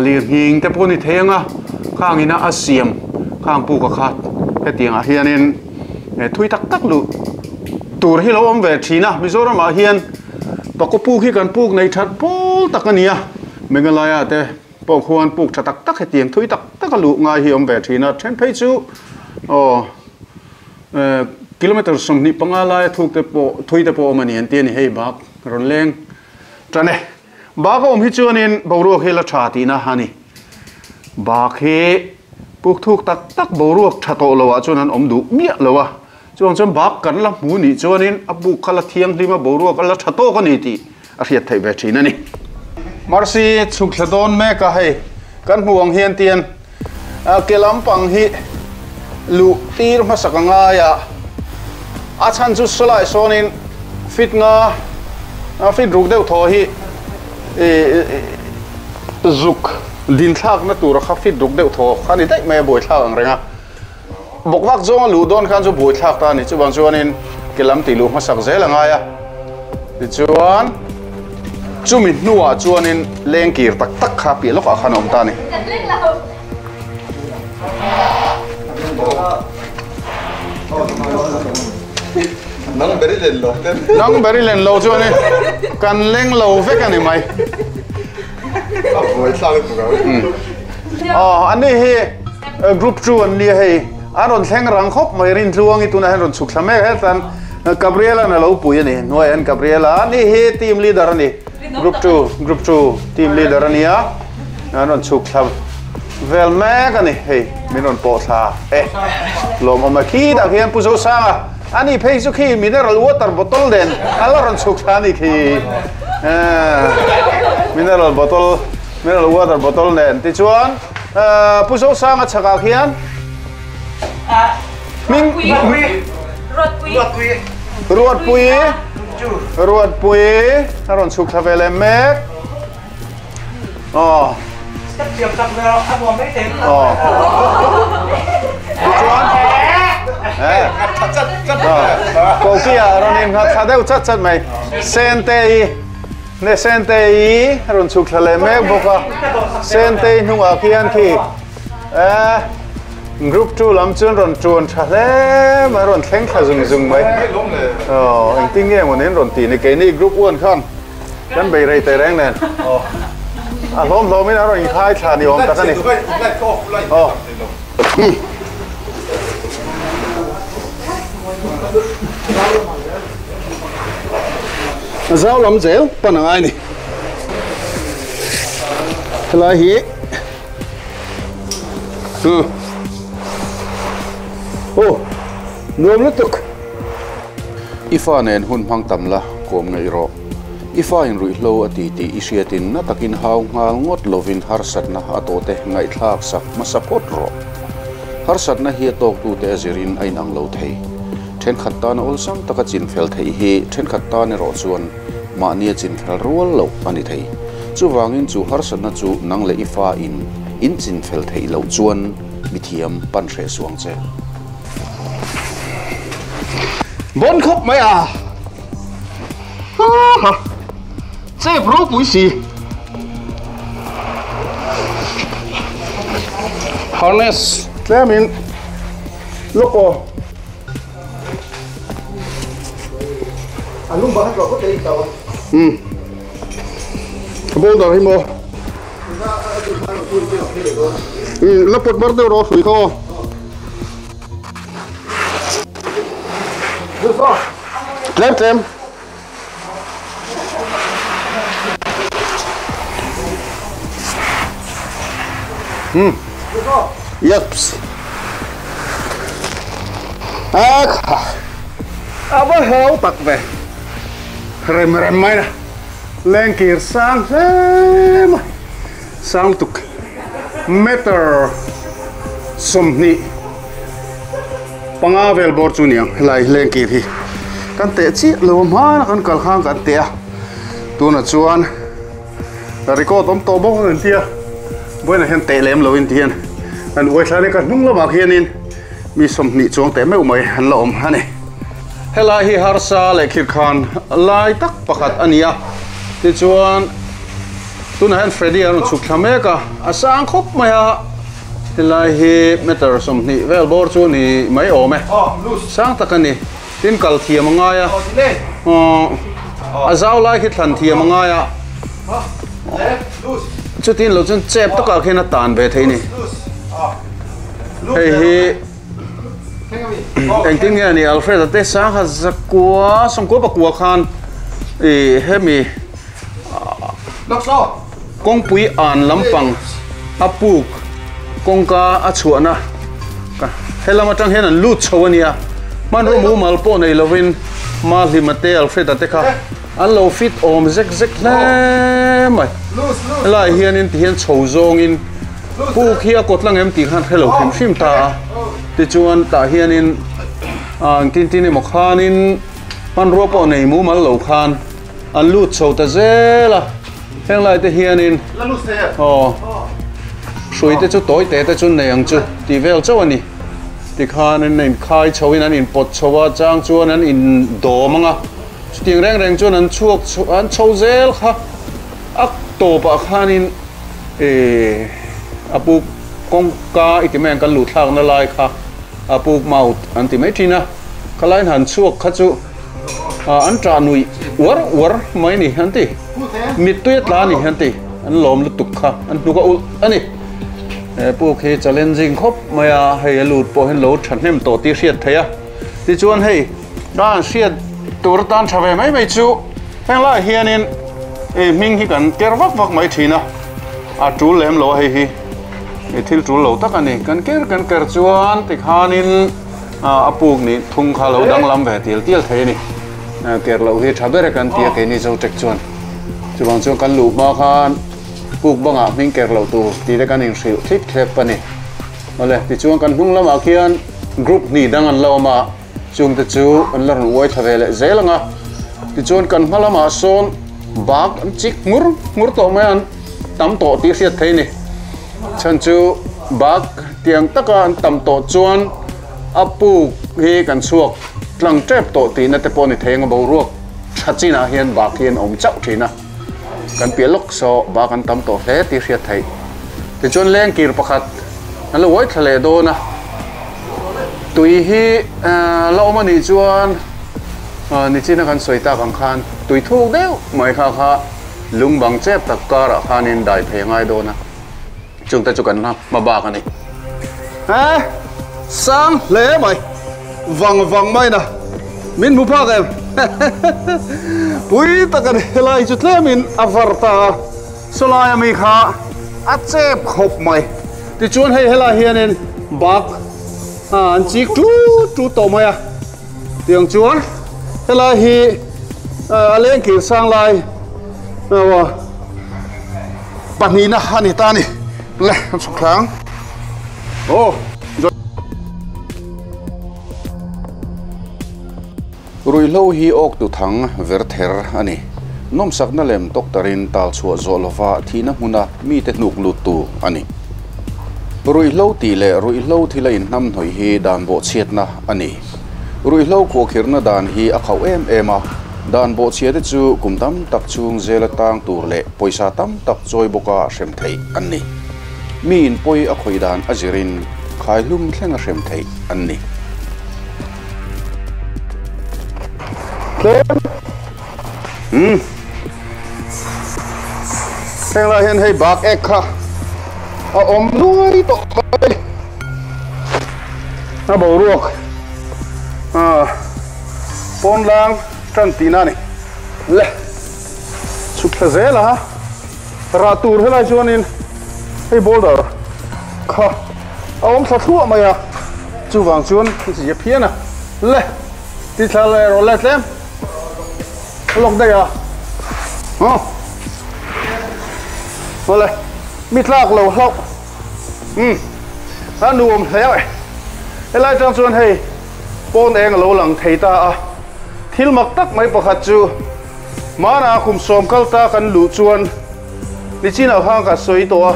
Speaker 1: lir nghing te pawh ni thei anga khang ina a siam khang puk a khat hetiangah hianin thui tak tak lu tur hi lo awm ve thina Mizoramah hian pakhaw puk hi kan puk nei that pawl tak ani a Meghalaya te pawh khuan puk tha tak tak hetiang thui tak tak a luh ngai hi awm ve thina then phei chu aw kilometer sawmhnih panga lai thuk te pawh thui te pawh awm ani an ti ani hei bak rawn leng tane bak a awm hi chuanin boruak hi la tha tihna ani bak hi puk thuk tak tak boruak tha tawh lo ah chuan an awm duh miah lo a chuang chuan bak kan la hmu ni chuanin a buk kha la thianghlim a boruak a la tha tawk ani tih a hriat theih ve thin ani marsi chhuk thla dawn mek a hei kan hmu ang hian tian a ke lampang hi lu tir hmasak angai a a chhan chu sawlai sawnin fit nga a fit ruk deuh thaw hi zuk din thlak na tur kha fit ruk deuh thaw kha ni daih mai a buai thlak ang renga bawk vak zawng a luh dawn khan chu buai thlak ta ni chubang chuanin ke lam tih luh hmasak zel angai a tichuan chumi hnuah chuanin leng kir tak tak kha piah lawkah khan a awm ta ni
Speaker 6: nang beri len lo ten
Speaker 1: nang beri len lo chuanin kan leng lo vek ani mai
Speaker 6: a buai thlak tu ka
Speaker 1: oh ani hi group two an ni hei an rawn thleng rang khawp mai rin tluang i tunah hian rawn chhuk thla mek hetan Gabriela na lo pui ani hnuai an Gabriela ani hi team leader ani group two group two team leader ani a an rawn chhuk thla vel mek ani hei min rawn pawh thla e lawm awm a khi dah hian pu zo sanga ani phei chu khi mineral water bottle den ala rawn chhuk thla ani khi mineral bottle mineral water bottle nen ti chuan pu zo sanga chhakah khian Ming Ruat Pui Ruat Pui Ruat Pui a rawn chhuk thla ve leh mek aw Oh. Cô kia rồi nên ngắt thà đều chắc chắc mày sen tê nè sen tê ý rồi chụp lại mấy bộ cả sen tê nung ở kia anh thì group two lắm chuyên rồi chuồn thà lẽ mà rồi thèn thà dùng dùng mấy ờ anh tin nghe một nên rồi tì này cái này group one khôngกันไปเรย์เตรงเนี่ยอ่ะล้มล้มไม่นะเราอีกท้ายชาดิอมแต่กันนี่อ๋อเจ้าลำเจ้าปนอะไรนี่ลายฮีอือโอ้นวมลุตุกอีฟ้าเนนหุ่นพังตำละกวมไงรออีฟ้าอินรุยโลอดีตีอิเชียตินนัตกินหาวงาลงดลวินฮาร์สัตนะอโตเตไงทากสักมาสะพดรอฮาร์สัตนะเฮียตกตูเตอจิรินไอนังโลเทเช่นขัดตานอลซัมตะกจินเฟลเทฮีเช่นขัดตานรอส่วนมาเนียจินเฟลรัวโลอันนี้เทจูวางินจูฮาร์สัตนะจูนังเลอีฟ้าอินอินจินเฟลเทโลจวนมิเทียมปันเรสวงเจบนคบไหมอ่ะฮ่า这不不是 harness 这面六个
Speaker 3: 啊，拢无遐大个第一道。
Speaker 1: 嗯，无到迄无。嗯，那不不都落水口。来来。嗯。Yeps. 啊卡，啊不好特别，rem rem mai na, lên kia sang thế mà, sang tục meter som ni, panga vel bor chu niang lai lên kia thì, kan te chi lo ma kan kal khang kan te a, tuna chuan record om to bok an tia, buena hen te lem lo in tian, an oi thla le ka hnung lama khianin mi som ni chuang te meu mai han la om hani helai hi harsa le khir khan lai tak pakhat ania ti chuan tuna hen Freddy an chuk thlameka a sang khop mai a helai hi meter som ni vel bor chu ni mai awm e sang tak ani tin kal thiam anga ya a zau lai khi thlan thiam anga ya chu tin lo chun chep taka khen a tan ve thei ni hei hi anh tin nghe này Alfred te sang ha zakua song ko pakua khan e hemi kong pui an lampang apuk kongka a chuana helam atang hian an lut chhoania man ro mu mal po nei lovin ma hlimate Alfred te kha an lo fit om zek zek hle mai lai hian in ti hian chho zawng in puk hi a kawt lang em tih khan hrelo hrim hrim ta a ti chuan tah hianin ang tin tin emaw khanin hmanrua pawh nei mu mal lo khan an lut chho ta zel a heng lai te hianin aw hrui te chu tawi te te chu nei ang chu ti vel chauh ani ti khan an in khai chho in an in pawt chho a chang chuan an in dawm anga chutiang reng reng chuan an chhuak an chho zel kha a tawpah khanin eh apuk kongka iti mai kan lu thlak na lai kha apuk maut an ti mai thina khalain han chuak kha chu an tra nui war war mai ni han ti mit tuya tla ni han ti an lom lutuk kha an hnuka ul ani e puk hi challenging khop maya hei a lut pawh hian lo thahnem tawh ti hriat theia ti chuan hei dan hriat tur tan tha ve mai mai chu heng lai hianin e hming hi kan ker vak vak mai thina a tul lem lo hei hi thil tul lo tak ani kan ker kan ker chuan ti khanin a puk ni thung kha lo dang lam ve til til thei ni ker lo hi tha ber kan tia ke ni zo tek chuan chuwang chuan kan lu ma khan puk banga hming ker lo tu ti te kan in hril thip thlep ani ole ti chuan kan hnung lamah khian group ni dang an lo ma chung te chu an la rawn uai tha ve leh zel anga ti chuan kan hma lamah sawn bak an chik ngur ngur tawh mai an tam tawh tih hriat thei ni Chan chu bak tiang taka an tam to chuan apu hi kan chuak tlang trep to ti na te pawh ni thei anga boruak thachina hian bak hian awm chauh thina kan piah lawk saw bak an tam tawh hle tih hriat theih tichuan leng kir pakhat an lo uai thla leh dawn a tui hi la awm anih chuan nichina kan sawi tak ang khan tui thuk deuh mai kha kha lung bang chep tak karah khanin dai phei ngai dawn a chung te chu kan hma bak ani ha sang hle mai vang vang mai na min mu phak em pui tak ani helai chu tlemin a var ta sawlai ami kha a chep khawp mai tichuan hei helai hianin bak an chik tu tu tawh mai a tiang chuan helai hi a leng kir sang lai pahnih na ani ta ani le an chhuk thlang oh ruihhlo hi awk tu thang ver ther ani nomsak na lem doctorin tal chhuah zawh lova thihna hmuna mi te hnuk lut tu ani ruihhlo ti leh ruihhlo thil a inhnam hnawih hi dan bawh chhiatna ani ruihhlo khuahkhirna dan hi a khauh em em a dan bawh chhiate chu kum tam tak chung zela tang tur leh pawisa tam tak chawi bawka hrem theih an ni mi in pawi a khawi dan a zirin khai hlum thleng a hrem theih an ni hmm thleng lai hian hei bak ek kha a awm nuai tawh mai a boruak a pawn lang tan tina ni le chhuk thla zel a rah tur helai chuanin hei boulder kha a awm thla thluah mai a chuwang chuan chi phian a le ti thla le ro le tlem lok dei a oh ole mi tlak lo hlau um a nuam hle mai helai tang chuan hei pawn eng lo lang thei ta a thil mak tak mai pakhat chu mana kum sawm kal ta kan lu chuan nichina khang ka sawi to a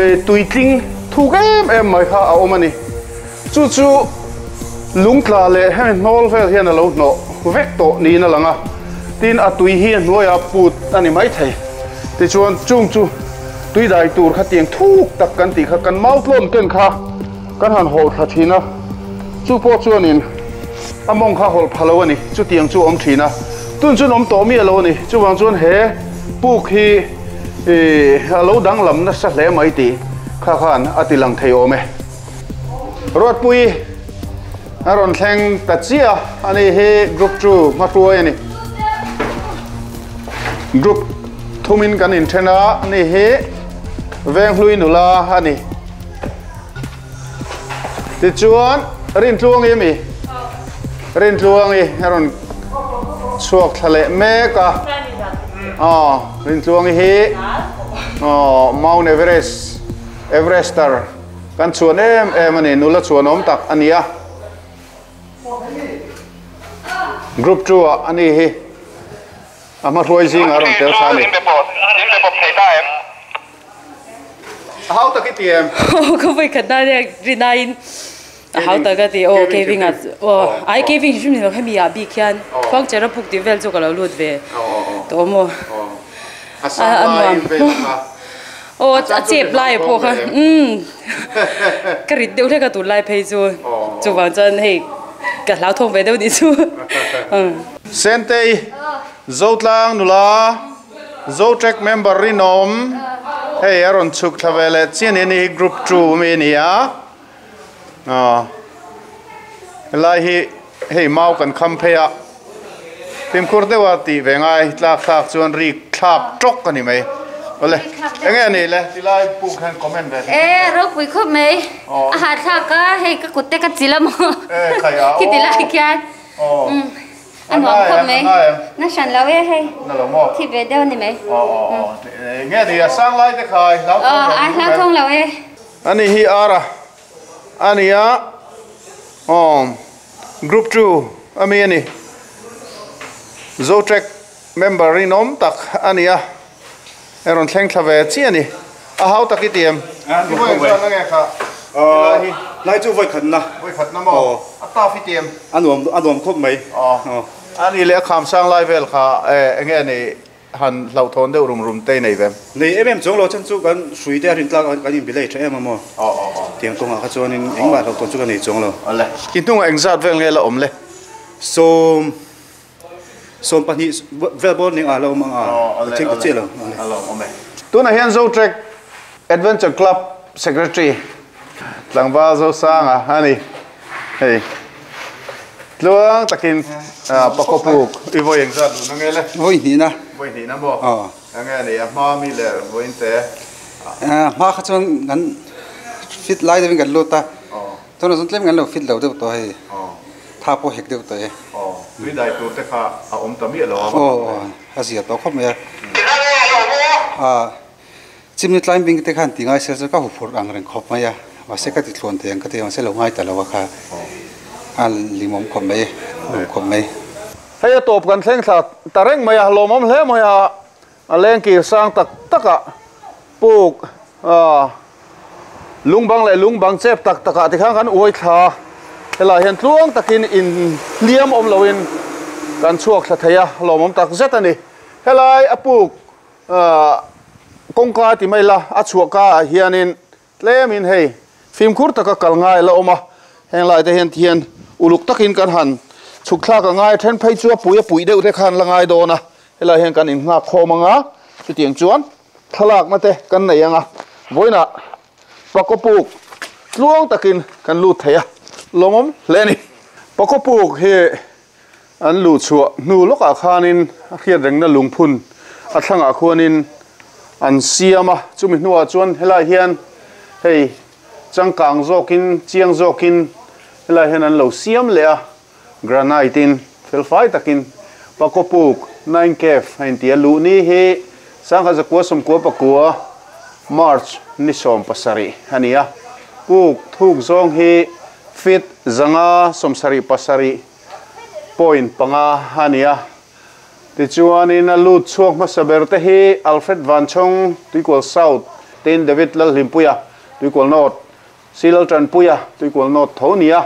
Speaker 1: e tuitling thuk em em mai kha a awm ani chu chu lungtla leh hemi hnawl vel hian a lo hnawh vek tawh niin a lang a tin a tui hi a hnuaia put ani mai thei tichuan chung chu tui dai tur kha tiang thuk tak kan tih kha kan mau tlawn ken kha kan han hawlh thla thin a chu pawh chuanin a mawng kha hawlh phalo ani chu tiang chu awm thin a tun chun awm tawh mi alo ani chuwang chuan he puk hi a lo danglam nasa hle mai ti kha khan a ti lang thei awm e Ruatpui a rawn thleng ta chia ani hi group two hmahruai ani group thumin kan inthen a ani hi venghlui nula ani tichuan Rintluangi mi Rintluangi a rawn chhuak thla leh mek a oh Rintluangi hi oh Mount Everest Everester kan chuan em em ani nula chuan awm tak ania group two a ani hi a hma hruai zing a rawn tel kha ani how tak i ti em
Speaker 11: ka voi khat na le rinain how tak ti o caving a o ai caving hrim ni hemi a bi khian khwang chera puk ti vel chu ka lo lut ve to mo
Speaker 1: a sang lai vel kha
Speaker 11: o a chep lai pawh kha um ka rit deuh hlek a tun lai phei chu chuwang chuan hei ka hlau thawng ve deuh ni chu
Speaker 1: Sentei Zotlang nula Zotrek member rinom hei a rawn chhuk thla ve leh chian ni hi group two mi ani a helai hi hei mau kan kham phei a fimkhur deuha tih ve ngai tlak thlak chuan rik thlak tawk ani mai ole enge ani le tilai puk khan comment ve
Speaker 8: e ro pui khop mai a ha thlak ka hei ka kutte ka chila mo
Speaker 1: e khaya
Speaker 8: ki tilai khian um an nuam khop mai na shan lo e hei
Speaker 1: na lo mo
Speaker 8: thi ve deuh ni mai
Speaker 1: o o nge ni a sang lai te khai lau
Speaker 8: thong ai lau thong lo e
Speaker 1: ani hi ara ani a om group two ami ani Zotrek member rinom tak ania eron thleng thla ve chi ani A hau takitiem
Speaker 6: lai chu voi khat na
Speaker 1: voi khat na mo a ta fi tiem
Speaker 6: anuam anuam khop mai
Speaker 1: ani le kham sang lai vel kha enge ni han lau thon deuh rum rum te nei vem
Speaker 6: nei em em chong lo chan chu kan sui te rin tlak kan in bilei tha em mo
Speaker 1: o o o
Speaker 6: tiang kong a kha chuan in engma lau thon chu kan nei chong lo
Speaker 1: ale kin tung engzat vel nge la om le
Speaker 6: so som pahnih vel bol ning a lo mang a thing che lo
Speaker 1: alo ome tuna hian Zo Trek Adventure Club Secretary tlangwa zo sanga ani hei tluang takin pakopuk i voi engzat lu nge le
Speaker 9: voi ni na
Speaker 1: voi ni na mo nge ni a ma mi le voin te
Speaker 9: a ma kha chuan kan fit lai de kan lo ta ton zon tlem kan lo fit lo de to hei tha po hek de to he
Speaker 1: tui dai tur te kha a om ta mi lo
Speaker 9: o a zia to khop me a chimni climbing te khan tingai se ka hu phur ang reng khop mai a ma se ka ti thlon te ang ka te ma se lo ngai ta lo kha a limom khop mai khop mai
Speaker 1: hei a top kan thleng thla ta reng mai a lomom hle mai a a leng ki sang tak taka puk a lungbang le lungbang chep tak taka ti khang kan ui thla hela hian tluang takin in liam om loin kan chuak thla theia lomom tak zet ani helai a puk a kongka ti mai la a chuaka hianin tlemin hei fimkhur taka kal ngai la oma henglai te hian thian uluk takin kan han chuk thla ka ngai then phei chu pui a pui deuh te khan la ngai dona helai hian kan in ngak khawm anga chutiang chuan thlalak na te kan nei anga voina pakopuk tluang takin kan lut theia lomom hle ni pakopuk hi an lu chua nu lokah khanin a hriat rengna lungphun a thlangah khuanin an siama chumi hnuah chuan helai hian hei changkang zawkin chiang zawkin helai hian an lo siam leh a granite in felfai takin pakopuk nine cave a inti a luh ni hi sangha zakua sawmkua pakua March ni sawm pasarih ani a puk thuk zawng hi fit zanga sawmsarih pasarih point panga ani a tichuanin a lut chhuak hmasa ber te hi Alfred Vanchong Tuikual South tin David Lalhlimpuia Tuikual North Silal Tranpuia Tuikual North tho nia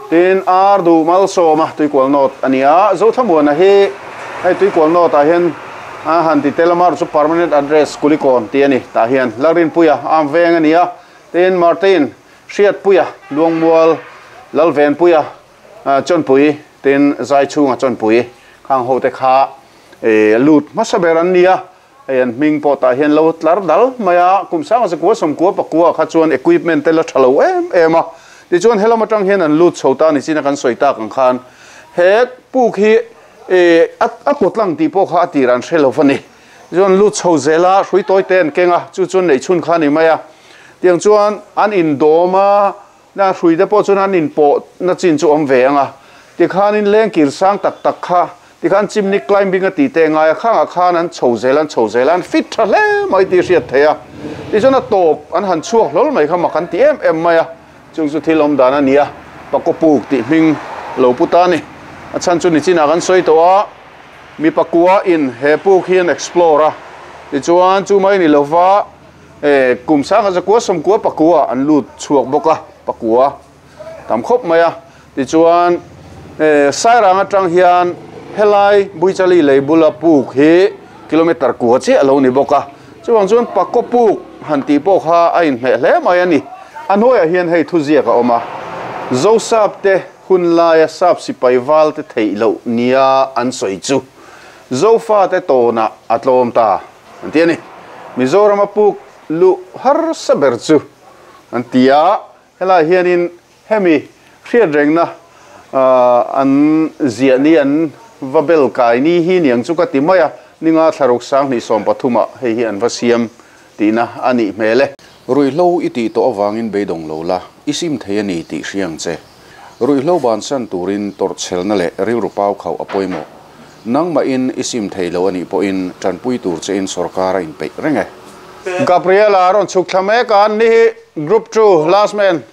Speaker 1: tin Ardu Malsawma Tuikual North ania Zothamuana hi hei Tuikual North ah hian a han ti telamar chu permanent address Kulikon ti ani tah hian Lalrinpuia am veng ania tin Martin Hriatpuia Luangmual Lalvenpuia Chawnpui tin Zaichhunga Chawnpui khang ho te kha lut hmasa ber an nia hei an hming pawh tah hian lo tlar dal mai a kum sanga zakua sawmkua pakua kha chuan equipment te la tha lo em em a tichuan helam atang hian an lut chho ta ni china kan sawi tak ang khan he puk hi a kawt lang tih pawh kha a tir an hre lo ani chuan lut chho zela hrui tawi te an keng a chu chuan nei chhun kha ni mai a tiang chuan an in dawm a na hrui te pawh chuan an in pawh na chin chu awm ve anga tikhanin leng kir sang tak tak kha tikhan chimney climbing a ti te ngai a khangah khan an chho zel an chho zel an fit tha hle mai ti hriat thei a tichuan a tawp an han chhuak hlol mai kha mak an ti em em mai a chung chu thil awm dan ani a pakopuk tih hming lo pu ta ni a chhan chu ni chinah kan sawi tawh a mi pakua in he puk hian explore a tichuan chu mai ni lova e kum sanga zakua sawmkua pakua an lut chhuak bawk a pakua tam khawp mai a tichuan e sairang atang hian helai buichali leibula puk hi kilometer kua che alo ni bawk a chuwang chuan pakopuk han ti pawh kha a inhmeh hle mai ani a hnuaiah hian hei thu ziak a awm a Zosap te hun laia sap sipai val te theih loh nia an sawi chu Zofa te tawna a tlawm ta an ti ani Mizoram a puk lu har sa ber chu an ti a helai hianin hemi hriat rengna an ziah ni an vabel kai ni hi niang chu ka ti mai a ninga thlaruk sang hnih sawm pathuma hei hi an va siam tina ani hmel e ruihhlo i tih tawh awangin beidawng lo la i sim thei ani tih hriang che ruihhlo ban san turin tawrhchhelna leh rilru pau khauh a pawimawh nangmah in i sim thei lo ani pawhin tanpui tur che in sarkar a inpeih reng e Gabriela rawn chhuk thla mek a ni hi group two last man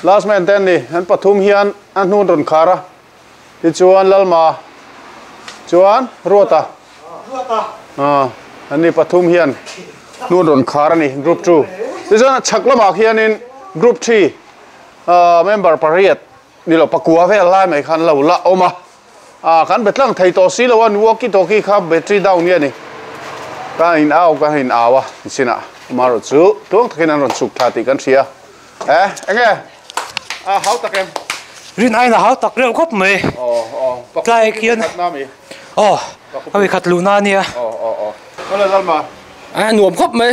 Speaker 1: last man ten ni an pathum hian a hnun rawn khar a tichuan Lalma chuan Ruata an ni pathum hian Nuan ron khar ani group two tichuan chak lamah khianin group three member pariat nilo pakua vel lai mai khan lo la awm a a kan betlang thei tawh si lo an walkie talkie kha battery down nge ani ka in au ka in awa sina maro chu tuang takin an ron chuk tha ti kan thria eh enge a hau takem
Speaker 10: rin ai na hau tak reuh khawp mai
Speaker 1: oh oh
Speaker 10: tlai khian oh a khat lu na nia
Speaker 1: oh oh oh ole lalma
Speaker 4: a nuam khawp mai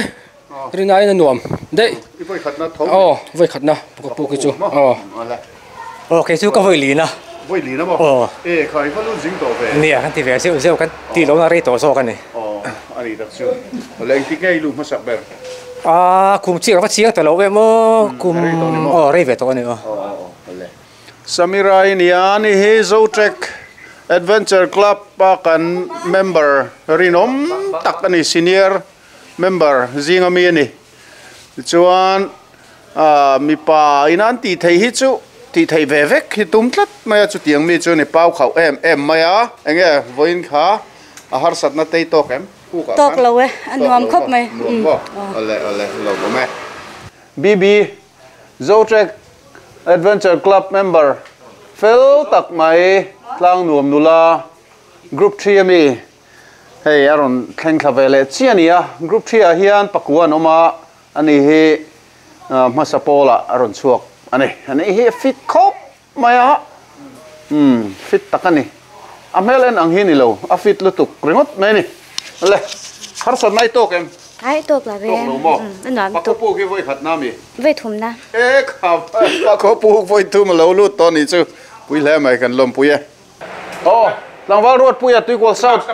Speaker 4: rin ai na nuam dei
Speaker 1: i voi khat na tho
Speaker 4: oh voi khat na pu ki chu oh
Speaker 10: oh ke chu ka voi li na
Speaker 1: voi li na mo e khai fa lu jing to ve
Speaker 10: nia kan ti ve zeu zeu kan ti lo na rei to zo kan ni
Speaker 1: oh ani tak chu leng ti ngei lu ma sak ber
Speaker 10: a kum chi ka chiang to lo ve mo kum oh rei ve to ni oh
Speaker 1: Samira inian hi Zotrek Adventure Club pa kan member rinom tak ani senior member zinga mi ani chuan a mi pa inan ti thei hi chu ti thei ve vek hi tum tlat mai chu tiang mi chu ni pau khau em em mai a enge voin kha a har sat na tei tok em ku ka
Speaker 8: tok lo e anuam khop mai
Speaker 1: ole ole lo bo me B B Zotrek Adventure Club member fel tak mai tlang nuam nula group three ami hei aron thleng thla vele chiania group three a hian pakuan oma ani hi hmasapola aron chuak ani ani hi fit khop mai a um fit takani a hmel ang hi ni lo a fit lutuk ringot mai ni le har sat nai tok em
Speaker 8: ai tok la ve
Speaker 1: tok lo mo
Speaker 8: anuam tok
Speaker 1: pu ki voi khat na mi
Speaker 8: ve thum na
Speaker 1: e kha pa ko pu voi thum lo lu to ni chu pui hle mai kan lom pui e oh tlangwal road puia tuikol south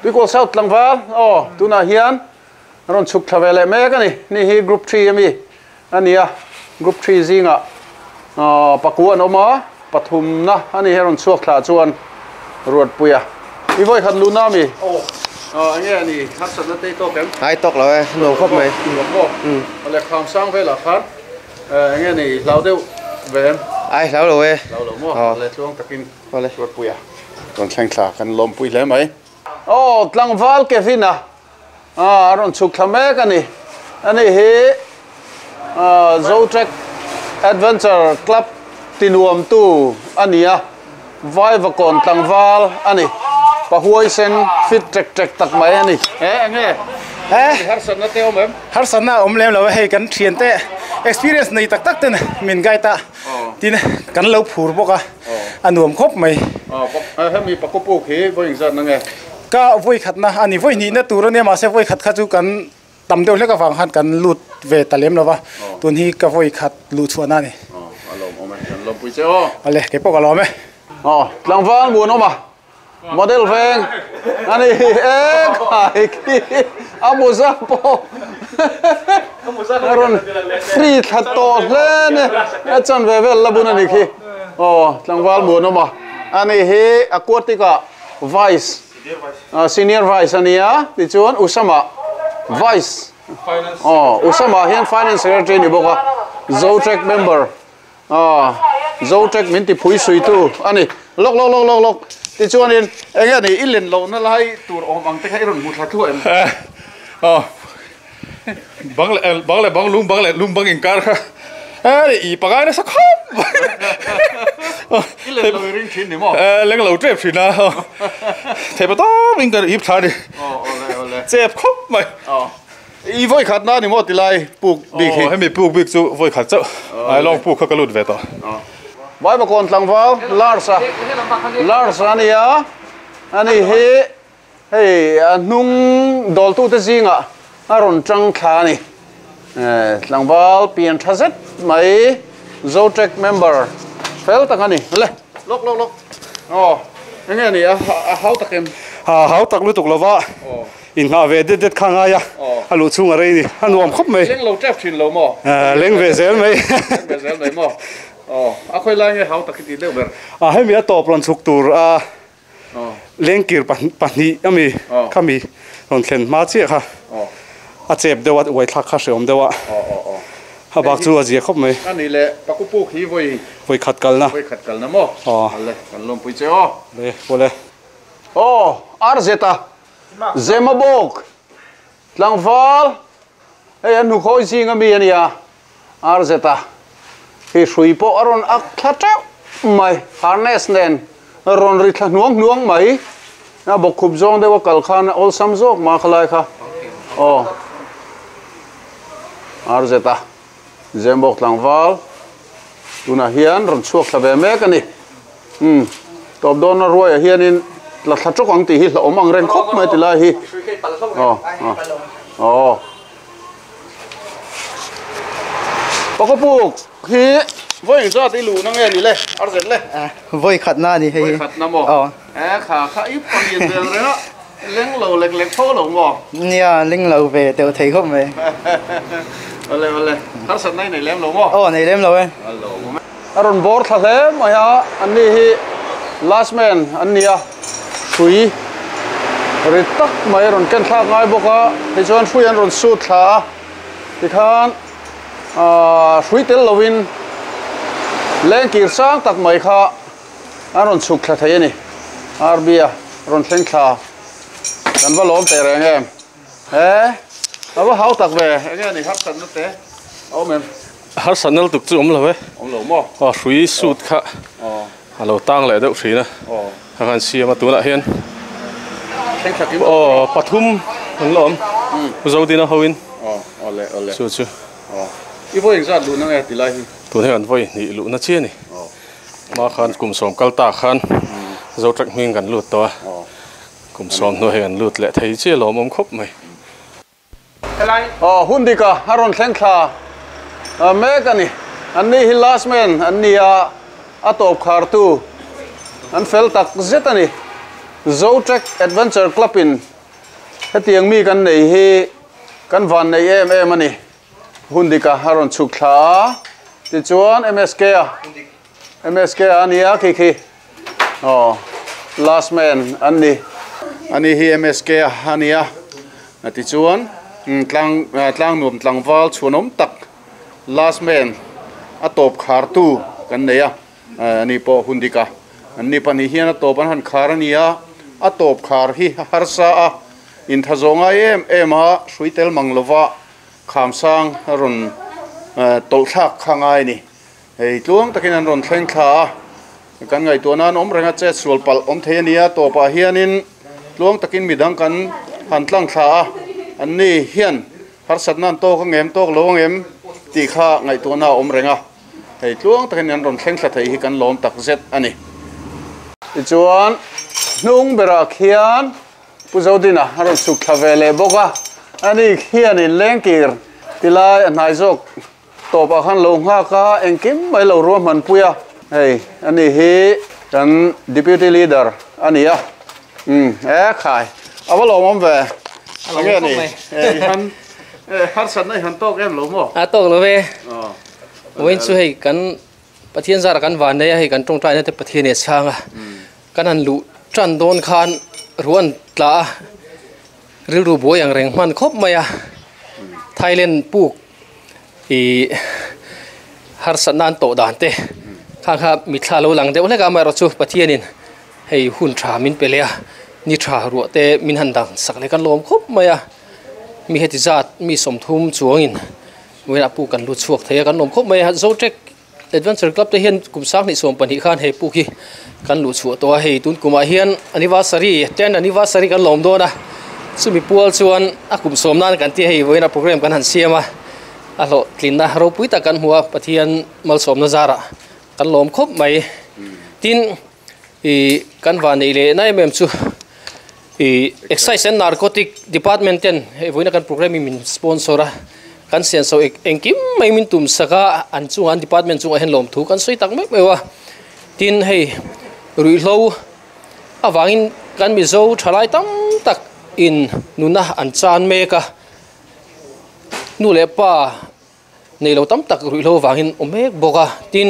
Speaker 1: tuikol south tlangwal oh tuna hian ron chuk thavele mek ani ni hi group three ami ania group three zinga a pakuan oma pathum na ani heron chuak thla chuan road puia i voi khat lu na mi oh ờ nghe ni hát sat na tei tok em
Speaker 12: ai tok lo e no khop mai
Speaker 1: ừ le kham sang ve la khan nghe ni lau deuh ve em
Speaker 12: ai lau lo e
Speaker 1: lau lo mo le chuang takin le road puia kon thleng thla kan lom pui hle mai oh tlangwal Kevin a a ron chuk thla mek ani ani hi a Zotrek Adventure Club tinuam tu ania vai vakon tlangwal ani pahuai sen fit trek trek tak mai ani e enge
Speaker 5: eh
Speaker 1: har san na te om em
Speaker 5: har san na om lem lo hei kan thian te experience nei tak tak ten min gai ta tin kan lo phur boka anuam khop mai
Speaker 1: ờ hemi pakopu khi voi ing zat na nge
Speaker 5: ka voi khat na ani voi ni na tur ania ma se voi khat kha chu kan tam deuh hlek awang han kan lut ve talem lova tun hi ka voi khat lu chuana ni
Speaker 1: alom om kan lom pui che o
Speaker 5: ale ke pok alom e
Speaker 1: ờ tlangwal muan oma model veng ani e khai ki amuza po aron free thla to hle ne a chan ve vel labun ani khi oh tlangwal muan oma ani hi aquatica vice senior vice ania ti chuan Usama vice oh Usama hian finance secretary ni boka Zotrek member ah Zotrek min ti phui sui tu ani lok lok lok lok lok ti chuan in enge ni ilen lo na lai tur om ang te kha iron mu thla thu em
Speaker 5: oh bang le bang le bang lung bang le lung bang in kar kha eh i pagai na sa khop
Speaker 1: ilen lo ring thin ni mo
Speaker 5: eh leng lo trep thin na thei pa to min ka ip tha ni
Speaker 1: oh ole ole
Speaker 5: chep khop mai
Speaker 1: oh i voi khat na ni mo ti lai puk bik hi
Speaker 5: hemi puk bik chu voi khat chau ai long puk kha ka lut ve to
Speaker 1: vai ba kon tlangwal Larsa Larsa ania ani hi hei nung dol tu te zinga aron tang thla ni eh tlangwal pian thazet mai Zotrek member fel tak ani le lok lok lok oh enge ni a hau takem
Speaker 6: ha hau tak lu tuk lova in nga ve det det khanga ya a lu chunga rei ni anuam khop mai
Speaker 1: leng lo trep thin lo mo
Speaker 6: leng ve zel mai
Speaker 1: leng ve zel mai mo oh a khoi lai nge hau tak ti deuh ber
Speaker 6: a hemi a top ron chuk tur a leng kir pahnih ami khami ron thlen ma chi kha a chep dewa uai thla kha hreom dewa ha bak chu a zia khop mai
Speaker 1: ani le pakupu khi voi
Speaker 6: voi khat kal na
Speaker 1: voi khat kal na mo le kan lom pui che o
Speaker 6: le bole
Speaker 1: oh arzeta zemabok Tlangval hei an hnukhawih zing ami ania arzeta hi hrui pawh a rawn ak thla teuh mai harness nen rawn ri thla hnuang hnuang mai na bawk khup zawng deuh a kal khan a awlsam zawk ma khalai kha aw arzeta zembawk tlangval tunah hian rawn chhuak thla ve mek ani um tawp dawn na ruaiah hianin la thla tawk ang tih hi hlauhawm ang reng khawp mai ti lai hi aw aw pakawpuk hi voi zat i lu na nge ni le arzet le
Speaker 13: voi khat na ni hei
Speaker 1: voi khat na maw e kha kha i palian vel renga leng lo lek lek tho lo maw
Speaker 13: nia leng lo ve teu thei khawp mai
Speaker 1: ole ole har sat nai nei lem lo maw
Speaker 13: aw nei lem lo e
Speaker 1: a rawn bawr thla hle mai a an ni hi last man an nia hrui ri tak mai rawn ken thlak ngai bawk a tichuan hrui an rawn sut thla a tikhan ah hrui tel lovin lengkir sang tak mai kha an rawn chhuk thla thei ani arbia rawn thleng thla kan va lawm teh reng em he a va hau tak ve enge ani har sat na te a awm em
Speaker 6: har sat nal tuk chu awm lo e
Speaker 1: awm lo maw
Speaker 6: aw hrui sut kha a lo tang leh deuh hrin a a kan siam a tunah hian aw pathum an la awm zodina hoin
Speaker 1: aw ole ole
Speaker 6: chu chu
Speaker 1: aw i voi engzat luh na nge ti lai hi
Speaker 6: tun hian an voi hnih luh na chi ani ma khan kum sawm kal ta khan zo trek hming kan lut tawh a kum sawm hnu hei an lut leh thei chi a lawm awm khawp mai
Speaker 1: aw hundika a rawn thleng thla mek ani an ni hi last man an ni a a tawp khar tu an fel tak zet ani Zotrek Adventure Club in hetiang mi kan nei hi kan van nei em em ani hundika a rawn chhuk thla a tichuan M S K a M S K ania khi khi aw last man an ni ani hi M S K a ania tichuan tlang tlang nuam tlangval chhuanawm tak last man a tawp khar tu kan nei a ani pawh hundika an ni pahnih hian a tawp an han khar ania a tawp khar hi harsa a inthazawnga em em a hrui tel mang lova khamsang a rawn tawlh thlak kha ngai ni hei tluang takin an rawn thleng thla a kan ngaihtuah nan awm renga chet sual palh awm thei ania tawpah hianin tluang takin midang kan han tlang thla a an ni hian harsat nan tawk a ngem tawk lo a ngem tih kha ngaihtuah na awm renga hei tluang takin an rawn thleng thla thei hi kan lawm tak zet ani tichuan hnung berah khian pu zodina a rawn chhuk thla ve leh bawk a ani khianin lengkir tilai a hnai zawk tawpah khan lo nghak a engkim mai lo ruah hman pui a hei ani hi kan deputy leader ani a um e khai a va lawm awm ve enge ni hei han har sat nai han tawk em lo maw
Speaker 4: a tawk lo ve wain chu hei kan pathian zara kan van nei a hei kan tawngtai na te pathian e changa kan han lu tran dawn khan ruan tla ril ru boi ang reng hman khawp mai a Thailand puk i har sat nan to dan te kha kha mithla lo lang deuh hlek a mai ro chu pathianin hei hun tha min pe le a ni tha ruah te min han dang sak le kan lawm khawp mai a mi heti zat mi sawmthum chuangin wena pu kan lu chhuak thei a kan lawm khawp mai a Zotrek Adventure Club te hian kum sang hnih sawm pahnih khan hei puk hi kan lu chhuah tawh a hei tun kumah hian anniversary ten anniversary kan lawm dawn a chumi pual chuan a kum sawm nan kan ti hei vawiin a program kan han siam a a hlawh tlinna ropui tak kan hmu a pathian malsawmna zarah kan lawm khawp mai tin i kan van nei leh na em em chu i Excise and Narcotic Department ten hei vawiin a kan program min sponsor a kan sian so engkim mai min tum saka an chunga an department chungah hian lawm thu kan sawi tak mek mai a tin hei ruihhlo awangin kan mizo thalai tam tak in nuna an chan mek a nu leh pa nei lo tam tak ruihhlo awangin awm mek bawk a tin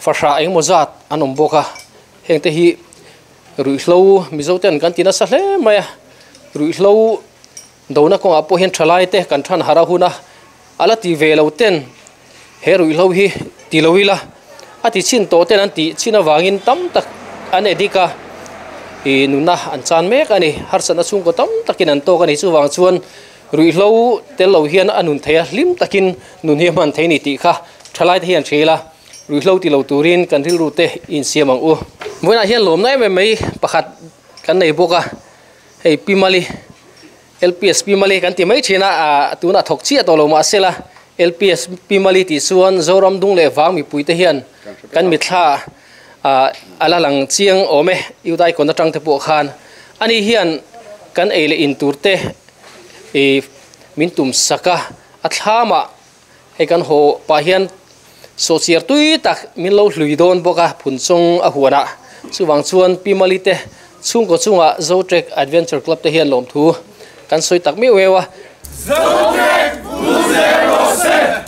Speaker 4: fahra engemaw zat an awm bawk a heng te hi ruihhlo mizo ten kan ti nasa hle mai a ruihhlo dona kawngah pawh hian thalai te kan than hara hun a ala ti ve lo ten he ruihhlo hi ti lo ila a ti chin tawh ten an ti chin awangin tam tak an edika i nuna an chan mek ani harsatna chhungkaw tam takin an tawk ani chuwang chuan Rui hlo tel lo hian anun theia hlim takin nun hi man thei ni ti kha thalai te hian thela rui hlo ti lo turin kan ril ru te in siam ang u moina hian lom nai mai mai pakhat kan nei boka hei pimali L P S pimali kan ti mai thina a tuna thok chi to lo ma sela L P S pimali ti chuan Zoram dung le wang mi puite hian kan mi thla a ala lang chiang ome yudai kon atang te po khan ani hian kan eile in turte e min tum saka a thlama hei kan ho pa hian so chiar tui tak min lo hlui don boka phun chong a huana chuwang chuan pimali te chung ko chunga Zotrek Adventure Club te hian lom thu kan soi tak mi wewa
Speaker 5: Zotrek Blue Zero Set.